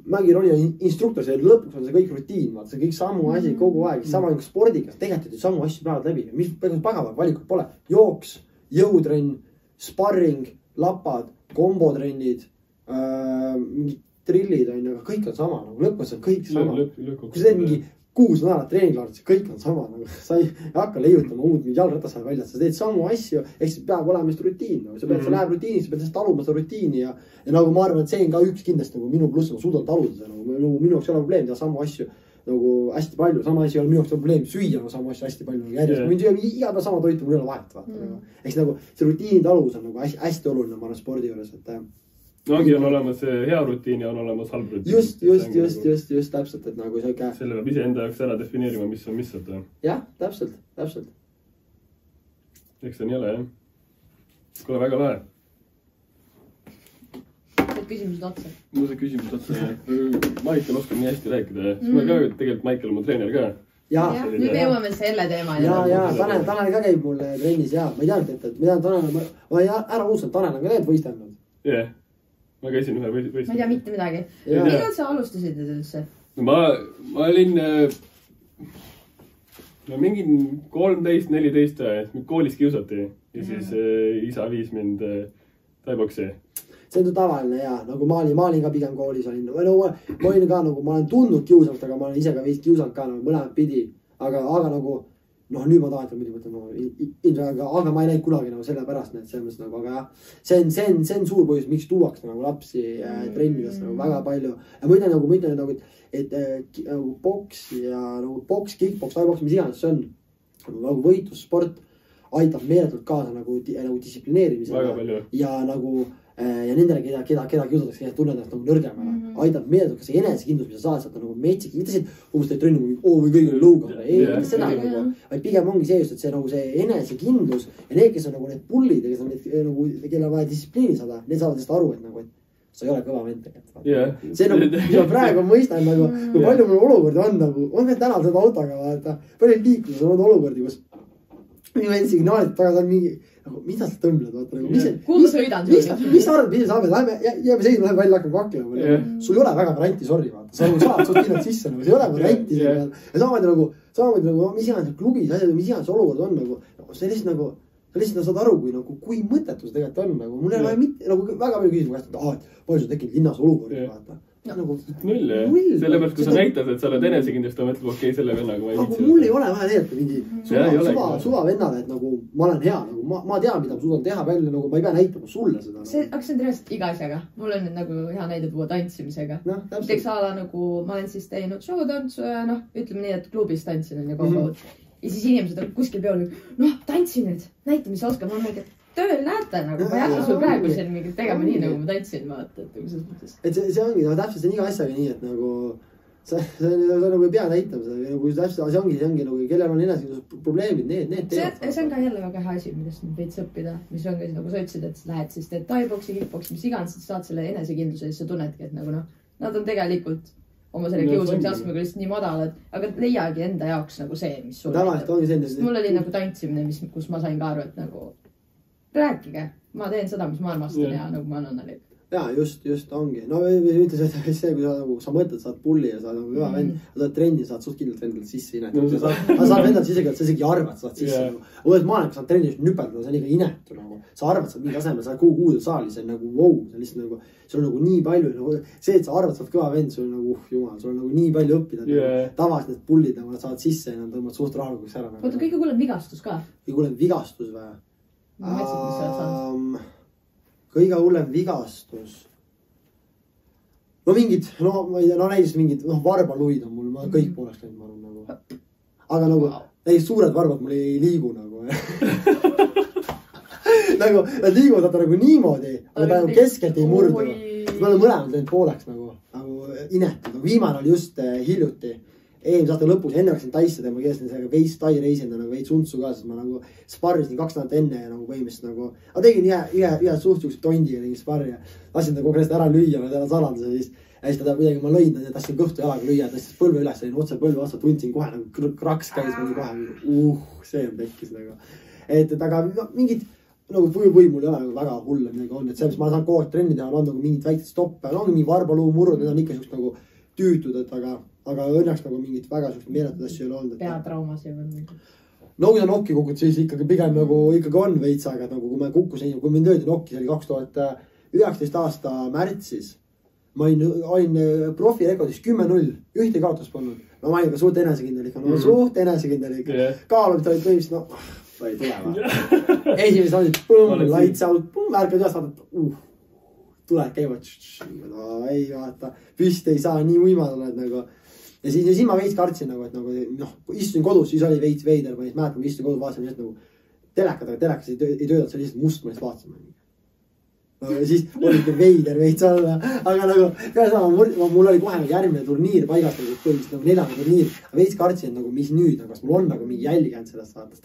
mängironi instruktor, see lõpuks on see kõik rutiin, vaata, see kõik samu asi kogu aeg, sama nagu spordikas, tegelikult samu asju päevad läbi, mis pagavad valikut pole, jooks, jõutrenn, sparring, lapad, kombotrennid, mingid trillid on ju, kõik on sama, nagu lõpuks on kõik sama. Kui sa teed mingi 6 nädalat treeninglaardis, kõik on sama, nagu sa ei hakka leiutama uut jalgratas välja, sa teed samu asju, ehk siis peab olema just rutiin, sa pead, sa läheb rutiini, sa pead lihtsalt taluma seda rutiini ja nagu ma arvan, et see on ka üks kindlasti nagu minu pluss, ma suudan taluda seda, nagu minu jaoks ei ole probleem teha samu asju nagu hästi palju, sama asi ei ole minu jaoks probleem süüa nagu samu asju hästi palju järjest, ma võin süüa iga päev sama toitu, mul ei ole vahet, vaata. Eks nagu see rutiini taluvus on nagu hästi oluline, ma arvan, spordi juures, et ongi on olemas hea rutiin ja on olemas halb rutiin. Just täpselt, et nagu see selle peab ise enda jaoks ära defineerima, mis on mis. Jah, täpselt. Eks see on jälle, jah. Kuule, väga lahe. Need küsimused otsa. Mul see küsimused otsa. Maicel oskab nii hästi rääkida. Siis ma ka tegelikult Maicel on mu treener ka. Jah, nüüd me jõuame selle teema. Ja, Tanel ka käib mul trennis ja ma ei teadnud, et ma ei ära uusanud, Tanel on ka need võistelnud. Jah. Ma käisin ühe võistelnud. Ma ei tea mitte midagi. Millal sa alustasid üldse? Ma olin mingi 13-14, koolis kiusati ja siis isa viis mind taiboksi. See on tavaline ja nagu ma olin ka pigem koolis olin. Ma olin ka nagu, ma olen tundnud kiusalt, aga ma olen ise ka vist kiusalt ka nagu mõlemad pidi. Aga nagu, nüüd ma tahan, et muidu mõtlen, aga ma ei näinud kunagi nagu selle pärast, et selles mõttes nagu, aga jah, see on suur põhjus, miks tuuakse nagu lapsi trennides nagu väga palju. Ja ma ütlen nagu, et nagu boks ja nagu boks, kickboks, taiboks, mis iganes see on, nagu võitlussport aitab meeletult kaasa nagu distsiplineerimisele ja nagu ja nendele, keda kiusatakse, keda tunned ennast nagu nõrgemana, aitab meeletult ka see enesekindlus, mida saad sealt nagu metsik, mitte see, umbes teed trenni, või kõigil on lõuga, ei, seda nagu, vaid pigem ongi see just, et see nagu see enesekindlus ja need, kes on nagu need pullid ja kes on need nagu, kelle vaja distsipliini saada, need saavad sellest aru, et nagu, et sa ei ole kõva vend tegelikult. See nagu, mis ma praegu mõistan nagu, kui palju mul olukordi on nagu, ma pean täna seda autoga vaata, palju liikluses on olukordi, kus minu vend signaalid taga on mingi, nagu, mida sa tõmbled, vaata nagu, kuhu sõidan sul? Mis sa arvad, mis saame, jääme seisma, läheme välja, hakkame kaklema. Sul ei ole väga varianti, sorry, vaata. Sa saad kindlalt sisse, nagu, see ei ole varianti. Ja samamoodi nagu, mis iganes klubis, mis iganes olukord on, nagu, see lihtsalt nagu, sa lihtsalt saad aru, kui mõttetus tegelikult on, nagu, mul ei ole mitte, nagu, väga palju küsima käest, et palju sa tekkinud linnas olukordi, vaata. Null, jah. Sellepärast, kui sa näitad, et sa oled enesekindlust, ta mõtleb, okei, selle vennaga ma ei viitsi. Aga mul ei ole vaja tegelikult mingi suva vennale, et nagu ma olen hea, nagu ma tean, mida ma suudan teha välja, nagu ma ei pea näitama sulle seda. Aga see on tõesti iga asjaga. Mul on nagu hea näide tuua tantsimisega. Näiteks ala nagu, ma olen siis teinud showtantsu ja ütleme nii, et klubis tantsin on ju kogu aeg. Ja siis inimesed on kuskil peol, tantsi nüüd, näita, mis sa oskad. Ma mõtlen, tööl näete nagu, ma ei hakka sul praegu siin mingi tegema nii, nagu ma tantsin, vaata, et nagu selles mõttes. Et see ongi, täpselt see on iga asjaga nii, et nagu sa nagu ei pea näitama seda, nagu täpselt see ongi nagu, kellel on enesekindlus probleemid, need teevad. See on ka jälle väga hea asi, millest nüüd veits õppida, mis on ka nagu sa ütlesid, et lähed siis teed taiboksi, kickboksi, mis iganes, et saad selle enesekindluse ja siis sa tunnedki, et nagu nad on tegelikult oma selle kiusamise astmega lihtsalt nii madalad, aga leiagi enda jaoks nagu see, mis sul mul oli nagu tantsimine, kus ma sain ka aru, et nagu rääkige, ma teen seda, mis ma armastan ja nagu ma annan neile. Jaa, just ongi. No ütles, et see, kui sa mõtled, saad pulli ja saad nagu hüva vend, sa saad trenni, saad suht kindlalt vendalt sisse inetud. Sa saad vendalt sisse, sa isegi arvad, saad sisse. Uued maailm, kui saad trenni nüpeldada, see on ikka inetu nagu. Sa arvad, saad mingi asemel, sa kuudel saali, see on nagu wow, see on lihtsalt nagu, sul on nagu nii palju, nagu see, et sa arvad, saad kõva vend, sul on nagu, jumal, sul on nagu nii palju õppida. Tavas need pullid, nad saavad sisse ja nad tõmbavad suht rahulikult ära. Oota, kõige kuulem vigastus ka? Kõige kuulem vigastus või? Kõige hullem vigastus. No mingid, ma ei tea, näiteks mingid, varbaluid on mul, ma kõik pooleks käinud, ma arvan nagu. Aga nagu, näiteks suured varbad mul ei liigu nagu. nagu nad liiguvad nagu niimoodi, aga ta nagu keskelt ei murdu. Me oleme mõlemad läinud pooleks nagu inetud. Viimane oli just hiljuti. Eelmise aasta lõpus, enne hakkasin taisse tema keelsin sellega veits tai reisenda nagu veits untsu ka, sest ma nagu sparrisin 2 nädalat enne ja nagu põhimõtteliselt nagu aga tegin ühe suhtuks tondiga tegin sparri ja lasin ta kogu ära lüüa, ma täna salanduse siis ja siis ta kuidagi ma lõin ja tahtsin kõhtu jalaga lüüa, ta siis põlve üles, olin otse põlve vastu, tundsin kohe nagu kraks käis kohe, see on tekkis nagu. Et aga mingid nagu või mul ei ole nagu väga hull midagi on, et see, mis ma saan kogu aeg trenni teha, on nagu mingid väiksed stoppe, on mingi varbaluu murrud, need on ikka siukest nagu tüütud, et aga õnneks nagu mingit väga siukest meeletud asju ei ole olnud. Peatraumas ei olnud mingi. No kui sa nokki kukud, siis ikkagi pigem nagu ikkagi on veits, aga nagu kui ma kukkusin, kui mind öeldi nokki, see oli 2019 aasta märtsis. Ma olin profirekordis 10-0, ühte kaotust polnud. Ma olin ka suht enesekindel ikka, suht enesekindel ikka. Kaalumist olid põhimõtteliselt, ta ei tule. Esimesed olid põmm, lights out, põmm, ärkad üles vaadata, tuled käivad, ei vaata, püsti ei saa, nii uimad oled nagu. Ja siis ma veits kartsin nagu, et nagu, istusin kodus, siis oli veits veider, ma mäletan, ma istusin kodus, vaatasin lihtsalt nagu telekad, aga telekas ei töötanud, see oli lihtsalt must, ma lihtsalt vaatasin. Ja siis oli veider veits olla, aga nagu, mul oli kohe nagu järgmine turniir paigast, põhimõtteliselt nagu 4. turniir, veits kartsin nagu, mis nüüd, kas mul on nagu mingi jälginud sellest vaatas.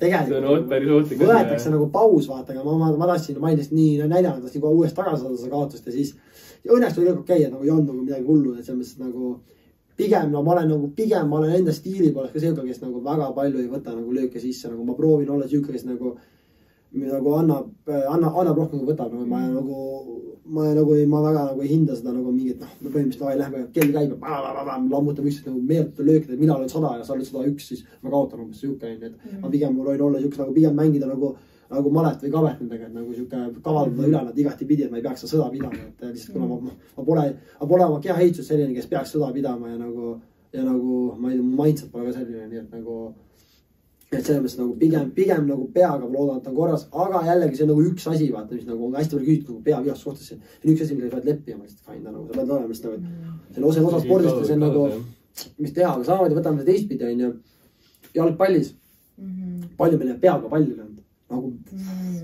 Tegelikult võetakse nagu paus, vaata, aga ma tahtsin, ma ei nii näidanud, tahtsin kohe uuesti tagasi saada seda kaotust ja siis õnneks tuli kõik okei, et nagu ei olnud nagu midagi hullu, et selles mõttes nagu pigem ma olen enda stiili poolest ka selga, kes nagu väga palju ei võta nagu lööke sisse, nagu ma proovin olla siuke, kes nagu annab rohkem kui võtab, ma väga nagu ei hinda seda nagu mingit, me põhimõtteliselt lähme, kell käib ja lammutab üksteist nagu meeleta löökida, et mina olen 100 ja sa oled 101, siis ma kaotan umbes siuke, et ma pigem võin olla siuke nagu pigem mängida nagu malet või kavet nendega, et nagu siuke kavaldada üle nad igati pidi, et ma ei peaks sõda pidama, et lihtsalt kuna ma pole oma keha heitsus selline, kes peaks sõda pidama ja nagu ma ei tea, mu mindset pole ka selline, nii et nagu et selles mõttes nagu pigem nagu peaga ma loodan, et on korras, aga jällegi see on nagu üks asi, vaata, mis nagu on hästi palju küsitud nagu peavihast suhtes, see on üks asi, millega pead leppima, lihtsalt fine, nagu sa pead olema, sest nagu see on osa spordist ja see on nagu, mis teha, aga samamoodi võtame seda teistpidi, on ju, jalgpallis, palju meil peaga palli löönud, nagu,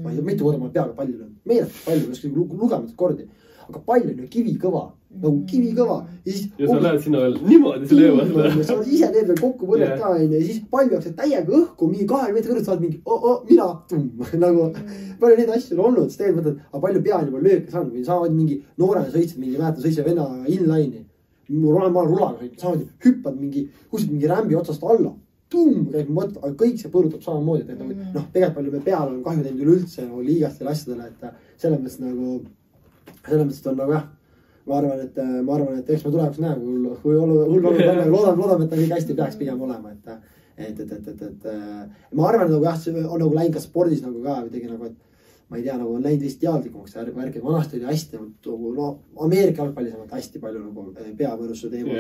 ma ei tea, mitu korda ma olen peaga palli löönud, meeletult palju, lugematult kordi, aga pall on ju kivikõva, nagu kivikõva. Ja sa lähed sinna veel niimoodi selle ööva. Sa oled ise teed veel kokku võrret ka, ja siis pall peaks täiega õhku, mingi 2 meetri kõrvalt saad mingi, mina, nagu, palju neid asju on olnud, siis tegelikult mõtled, aga palju peal juba lööke saanud, või saavad mingi noorena sõitsid mingi, mäletan, sõitsid venna inline'i, ma olen rulaga sõitnud, saavad hüppad mingi, kuskilt mingi rämbi otsast alla, käib mõt, aga kõik see põrutab samamoodi, et tegelikult palju me peal on kahju teinud üleüldse nagu liigastele asjadele, et selles mõttes on nagu jah, ma arvan, et eks me tulevikus näe, kui hull loodame, et ta kõik hästi peaks pigem olema, et ma arvan, et nagu jah, see on nagu läinud ka spordis nagu ka tegi nagu, et ma ei tea, nagu on läinud vist teadlikumaks värki, vanasti oli hästi, Ameerika jalgpallis on hästi palju nagu peavõrustuse teemal,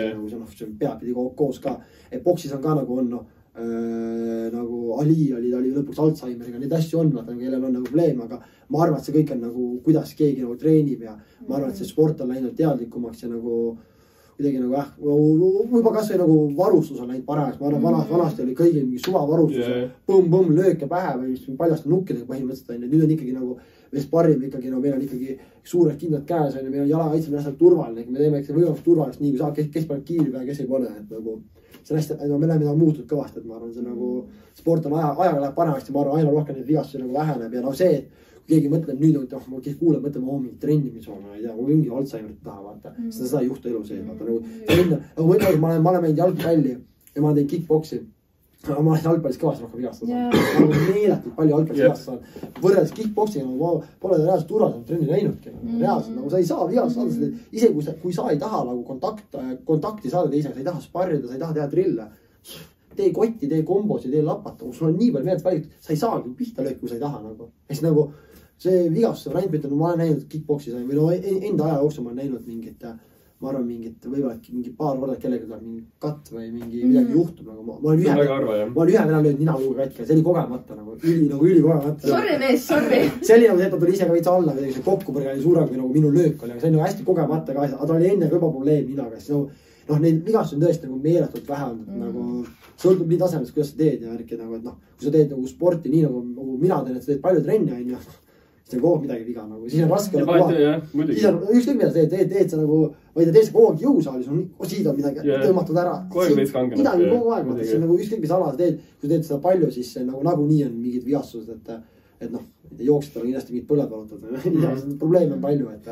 see peab pidi koos ka, et boksis on ka nagu on, nagu Ali oli lõpuks Alzheimeriga, neid asju on, kellel on nagu probleem, aga ma arvan, et see kõik on nagu, kuidas keegi nagu treenib ja ma arvan, et see sport on läinud teadlikumaks ja nagu kuidagi nagu juba kas või nagu varustus on läinud paremaks, ma arvan, vanasti oli kõigil mingi suvavarustus, põmm, lööke pähe või paljaste nukkidega põhimõtteliselt, nüüd on ikkagi nagu me sparrime ikkagi, no meil on ikkagi suured kindlad käes, meil on jalakaitse, meil on hästi turvaline, me teeme võimalust turvalist nii kui saab, kes paneb kiiri peale, kes ei pane, et nagu see on hästi, me oleme muutunud kõvasti, et ma arvan, see nagu sport on ajaga läheb paremaks ja ma arvan, aina rohkem neid vigastusi nagu väheneb ja see, et kui keegi mõtleb nüüd, et ma kes kuuleb, mõtleme mingi trennimis on, ma ei tea, mingi Alzheimerit taha, vaata, seda ei juhtu elu sees, vaata, nagu ma ütlen, ma olen meinud jalgpalli ja ma olen teinud kickboksi. Ma olen jalgpallis kõvasti rohkem vigastada saanud. Ma olen meeletult palju jalgpallis vigastada saanud. Võrreldes kickboksiga, ma pole reaalselt turvaliselt trenni näinudki. Reaalselt, nagu sa ei saa vigastada saada. Ise kui sa ei taha nagu kontakti saada teisega, sa ei taha sparrida, sa ei taha teha trille. Tee kotti, tee kombosi, tee lapata. Sul on nii palju meelt välitud, sa ei saagi pihta lööki, kui sa ei taha nagu. Eks nagu see vigastuse variant, ma olen näinud kickboksis või no enda aja jooksul ma olen näinud mingit ma arvan võib-olla mingi paar korda kellega tuleb mingi katt või mingi midagi juhtub nagu ma olen ühe vena löönud ninaluuga katki ja see oli kogemata nagu üli kogemata. Sorry mees, sorry. See oli nagu see, et ta tuli ise ka veits alla või kokkupõrge oli suurem kui nagu minu löök oli, aga see on nagu hästi kogemata ka asja, aga ta oli enne juba probleem ninaga, siis nagu noh, neid vigastusi on tõesti nagu meeletult vähe olnud, nagu sõltub nii tasemest, kuidas sa teed ja värki nagu, et noh, kui sa teed nagu sporti nii nagu mina teen, et sa teed palju trenni, on ju, siis on kogu aeg midagi viga nagu, siis on raske siis on ükskõik mida sa teed sa nagu, või teed sa kogu aeg jõusaalis, siid on midagi tõmmatud ära. Midagi kogu aeg, see on nagu ükskõik mis ala sa teed, kui sa teed seda palju, siis nagu nagunii on mingid vigastused, et noh, jooksetel on kindlasti mingid põled valutad, probleeme on palju, et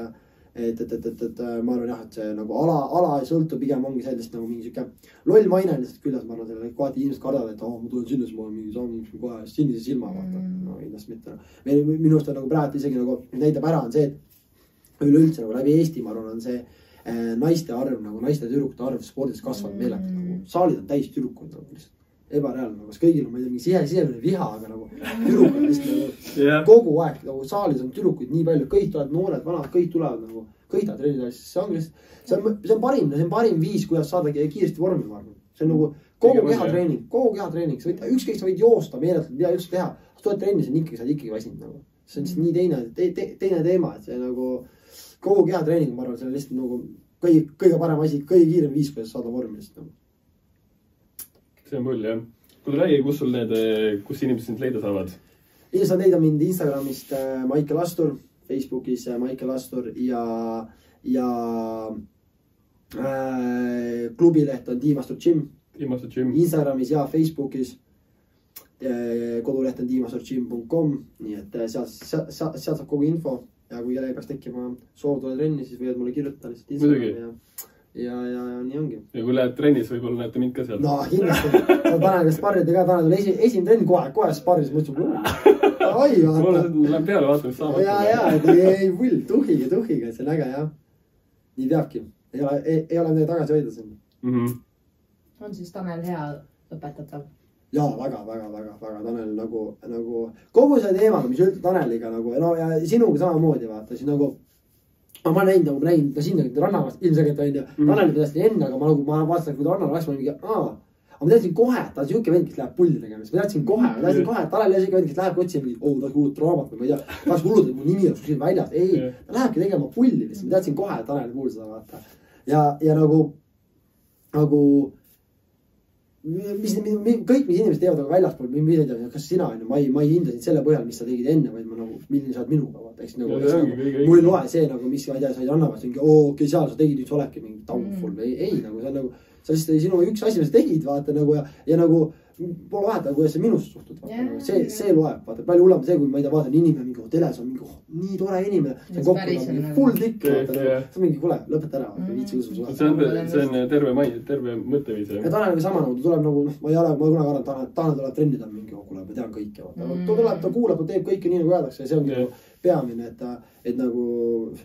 ma arvan jah, et see nagu ala ei sõltu, pigem ongi sellist nagu mingi siuke loll maine lihtsalt küljes, ma arvan, selle kohati inimesed kardavad, et ma tulen sinna, siis ma olen mingi samm kohe sinise silma vaata, no kindlasti mitte. Minu arust on nagu praegu isegi nagu näitab ära on see, et üleüldse nagu läbi Eesti, ma arvan, on see naiste arv, nagu naiste tüdrukute arv spordis kasvanud meeletult, nagu saalid on täis tüdrukud nagu lihtsalt ebareaalne, nagu kas kõigil on, ma ei tea, mingi sisemine viha, aga nagu tüdrukud lihtsalt nagu kogu aeg nagu saalis on tüdrukuid nii palju, kõik tulevad noored, vanad, kõik tulevad nagu kõik tahavad treenida, siis see ongi lihtsalt, see on parim viis, kuidas saada kiiresti vormi, ma arvan. See on nagu kogu kehatreening, sa võid, ükskõik sa võid joosta meeletult, mida üldse teha, sa tuled trenni, sa oled ikkagi väsinud nagu. See on lihtsalt nii teine teema, et see nagu kogu kehatreening, ma arvan, see on lihtsalt nagu kõige parem asi, kõige kiirem viis, kuidas saada vormi lihtsalt nagu. See on pull, jah. Kuule räägi, kus inimesed sind leida saavad? Inimesed saavad leida mind Instagramist Maicel Astur, Facebookis Maicel Astur ja klubileht on Team Astur Gym. Instagramis ja Facebookis. Koduleht on teamasturgym.com, nii et sealt saab kogu info ja kui kellegi peaks tekkima soov tulla trenni, siis võivad mulle kirjutada lihtsalt Instagrami ja nii ongi. Ja kui lähed trennis, võib-olla näete mind ka seal. No kindlasti, sa Taneliga sparrida ka, Tanel oli esimene trenn kohe sparris, mõtlesin, oi vaata. Mulle läheb peale vaata, mis saab. Ei pull, tuhiga, see on äge jah. Nii peabki, ei ole midagi tagasi hoida siin. On siis Tanel hea õpetatav? Jaa, väga, Tanel nagu kogu see teemaga, mis üldse Taneliga nagu, no ja sinuga samamoodi vaata, siis nagu ma näin sinna rannavast ilmselgelt on ju, Tanel täiesti enne, aga ma vaatasin, kui ta rannal läks, ma mingi, aga ma teadsin kohe, ta on siuke vend, kes läheb pulli tegemas, ma teadsin kohe, et Tanel on siuke vend, kes läheb otsima mingit, ta kuulub draamat või ma ei tea, tahaks hullud, et mu nimi on siin väljas, ei, ta lähebki tegema pulli lihtsalt, ma teadsin kohe, et Tanel kuul seda vaata ja nagu kõik, mis inimesed teevad aga väljaspool, mida ei tea, kas sina on ju, ma ei hinda sind selle põhjal, mis sa tegid enne, vaid ma nagu, milline sa oled minuga, vaata, eks nagu, mul ei loe see nagu, mis, ma ei tea, sa ei annavad mingi, okei, seal sa tegid, nüüd sa oledki mingi downfall, ei, nagu see on nagu, sa lihtsalt sinu üks asi, mis sa tegid, vaata nagu ja nagu pole vahet, kuidas sa minusse suhtud, vaata, see loeb, vaata, palju hullem see, kui ma ei tea, vaatan inimene mingi teles on mingi, nii tore inimene, see on kokku, full tikk, vaata, see on mingi, kuule, lõpeta ära, viitsi usu suhe. See on terve mõtteviis. Ja Tanel sama nagu, ta tuleb nagu, ma kunagi arvan, Tanel tuleb trennida mingi, kuule, ma tean kõike, vaata, ta tuleb, ta kuulab, ta teeb kõike nii nagu öeldakse ja see ongi peamine, et nagu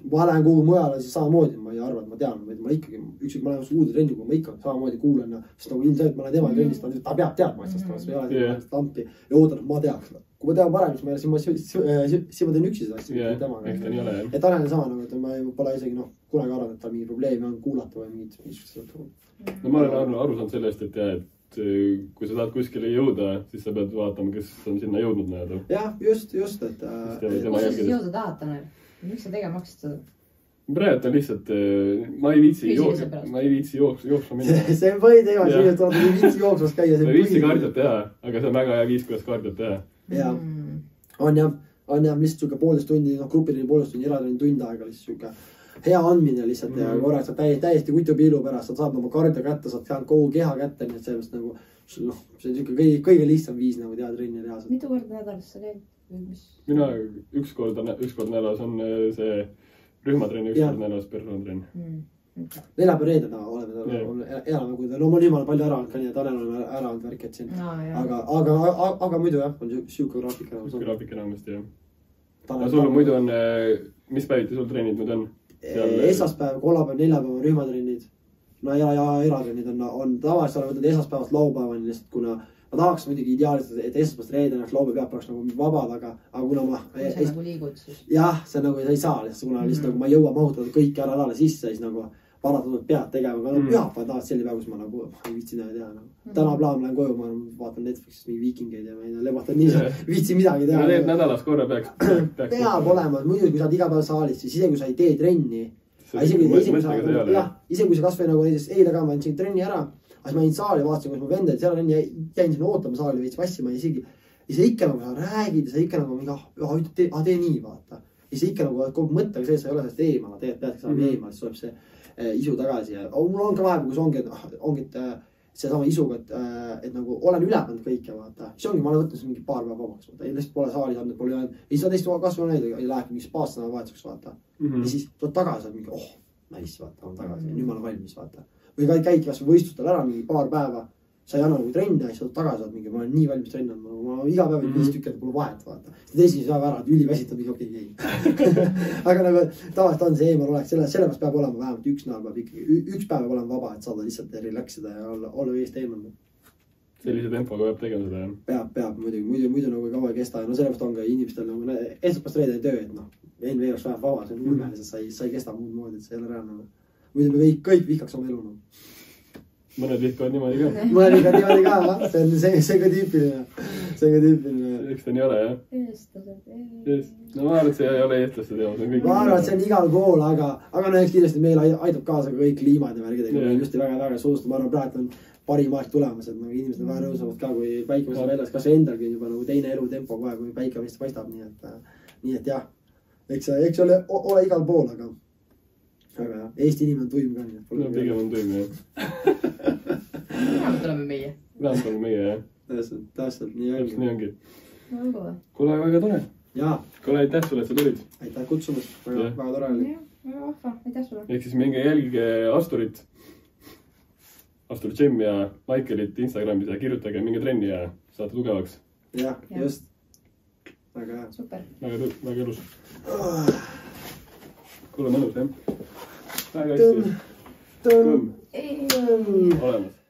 ma lähen kuhugi mujale, siis samamoodi ma ei arva, et ma tean, vaid ma ikkagi, ükskõik ma lähen uude trenni, kui ma ikka samamoodi kuulen, sest nagu ilmselt ma lähen tema trennist, ta peab teadma asjast, ma ei ole lampi ja ootan, et ma teaks. Kui ma tean parem, siis ma teen üksi seda asja temaga. Et Tanel on sama, et ma pole isegi kunagi arvanud, et tal mingi probleemi on kuulata või mingit. No ma olen aru saanud sellest, et jah, et kui sa tahad kuskile jõuda, siis sa pead vaatama, kes on sinna jõudnud näeda. Jah, just, et... Kus sa siis jõuda tahad, Tanel? Miks sa tegema hakkasid seda? Praegu on lihtsalt, ma ei viitsi jooksma minna. See on põhiteema, siin tuleb ei viitsi jooksmas käia. Ma ei viitsi kaardiot teha, aga see on väga hea viis, kuidas kaardiot teha. Jaa, on jah, lihtsalt siuke 1,5 tundi, grupiline 1,5 tundi, eraline tund aega lihtsalt siuke hea andmine lihtsalt ja korraks saad täiesti kutupiilu pärast, saad oma kardia kätte, saad kogu keha kätte, nii et sellest nagu, see on siuke kõige lihtsam viis nagu teha trenni reaalselt. Mitu korda nädalas sa käid? Mina üks kord nädalas on see rühmatrenni, üks kord nädalas personatrenn. Neljapäev reedena elame, kui ta loomulikult palju ära olnud ka nii, et Tanel on ära olnud värk, et siin. Aga muidu jah, on siuke graafik enamasti. Siuke graafik enamasti, jah. Ja sul muidu on, mis päeviti sul trennid nüüd on? Esmaspäev, kolmapäev, neljapäev on rühmatrennid. No ja eratrennid on tavaliselt võtad esmaspäevast laupäevani lihtsalt, kuna ma tahaks muidugi ideaalselt, et esmaspäevast reedena laupäev peab nagu vabad, aga kuna ma... Kui sa nagu liigud siis? Jah, see nagu ei saa lihtsalt, kuna lihtsalt nagu ma ei jõua mahutada kõiki ära alale sisse, siis nagu paratatult pead tegema, aga pühapäev tahad selline päev, kus ma nagu ei viitsi näha teha. Täna plaan lähen koju, ma vaatan Netflixist mingi viikingeid ja ma ei lebatan nii, viitsi midagi teha. Need nädalas korra peaks. Peab olema, muidu kui sa oled iga päev saalis, siis isegi kui sa ei tee trenni, ise kui see kasvõi nagu näiteks eile ka ma andsin trenni ära, aga siis ma jäin saali, vaatasin, kus mu vendad seal on ja jäin sinna ootama saali veits vassima ja sa ikka nagu sa räägid ja sa ikka nagu mingi, tee nii, vaata. Ja sa ikka nagu kogu mõttega sees, sa ei ole sellest eemala, tegelikult peadki saama eemala, siis tuleb see isu tagasi ja mul on ka vahepeal, kus ongi seesama isuga, et nagu olen üle pannud kõike, vaata. See ongi, ma olen võtnud mingi paar päeva vabaks, vaata. Lihtsalt pole saali saanud, pole jäänud. Ja siis sa teist kasvu näidagi, ei läheb mingi spaast nädalavahetuseks, vaata. Ja siis tuled tagasi, mingi, nice, vaata, on tagasi. Nüüd ma olen valmis, vaata. Või käid kas või võistlustel ära mingi paar päeva, sa ei anna nagu trenni ja siis tuled tagasi, mingi, ma olen nii valmis trenni andma. Ma iga päev 5 tükki, pole vahet, vaata. Siis esimese päeva ära, et üliväsitab mingi okei. Aga nagu tavaliselt on see eemal oleks, sellepärast peab olema vähemalt üks nädal peab ikkagi, üks päev peab olema vaba, et saada lihtsalt relaxida ja olla eest eemal. Sellise tempoga peab tegema seda, jah? Peab muidu nagu kaua ei kesta. No sellepärast on ka inimestel nagu esmaspäevast reedeni töö, et noh, NV oleks vähem vaba, see on ulmeliselt, sa ei kesta muud moodi, et see ei ole reaalne. Muidu me kõik vihkaks oma elu. Mõned vihkavad niimoodi ka. Mõned vihkavad niimoodi ka, see ka tüüpiline. See ka tüüpiline. Eks ta nii ole, jah? Eestlased. No ma arvan, et see ei ole eestlaste teema. Ma arvan, et see on igal pool, aga no eks kindlasti meil aitab kaasa ka kõik kliimad ja värgidega. Just väga soostunud. Ma arvan, praegu on parim aeg tulemas, et inimesed on väga rõõmsavad ka, kui päike võistab väljas. Kas endalgi on juba nagu teine elutempo kohe, kui päike vist paistab. Nii et jah, eks ole igal pool, aga jah, Eesti inimene on tuim ka. No pigem on tuim, jah. Vähemalt oleme meie. Vähemalt oleme meie, jah. Täpselt, nii ongi. Kuule, väga tore. Jaa. Kuule, aitäh sulle, et sa tulid. Aitäh kutsumast, väga tore oli. Väga vahva, aitäh sulle. Ehk siis minge jälgige Asturit, Astur Gym ja Maikelit Instagramis ja kirjutage minge trenni ja saate tugevaks. Jah, just. Väga hea. Super. Väga elus. Kuule, mõnus, jah? Väga hästi. Kõmm. Olemas.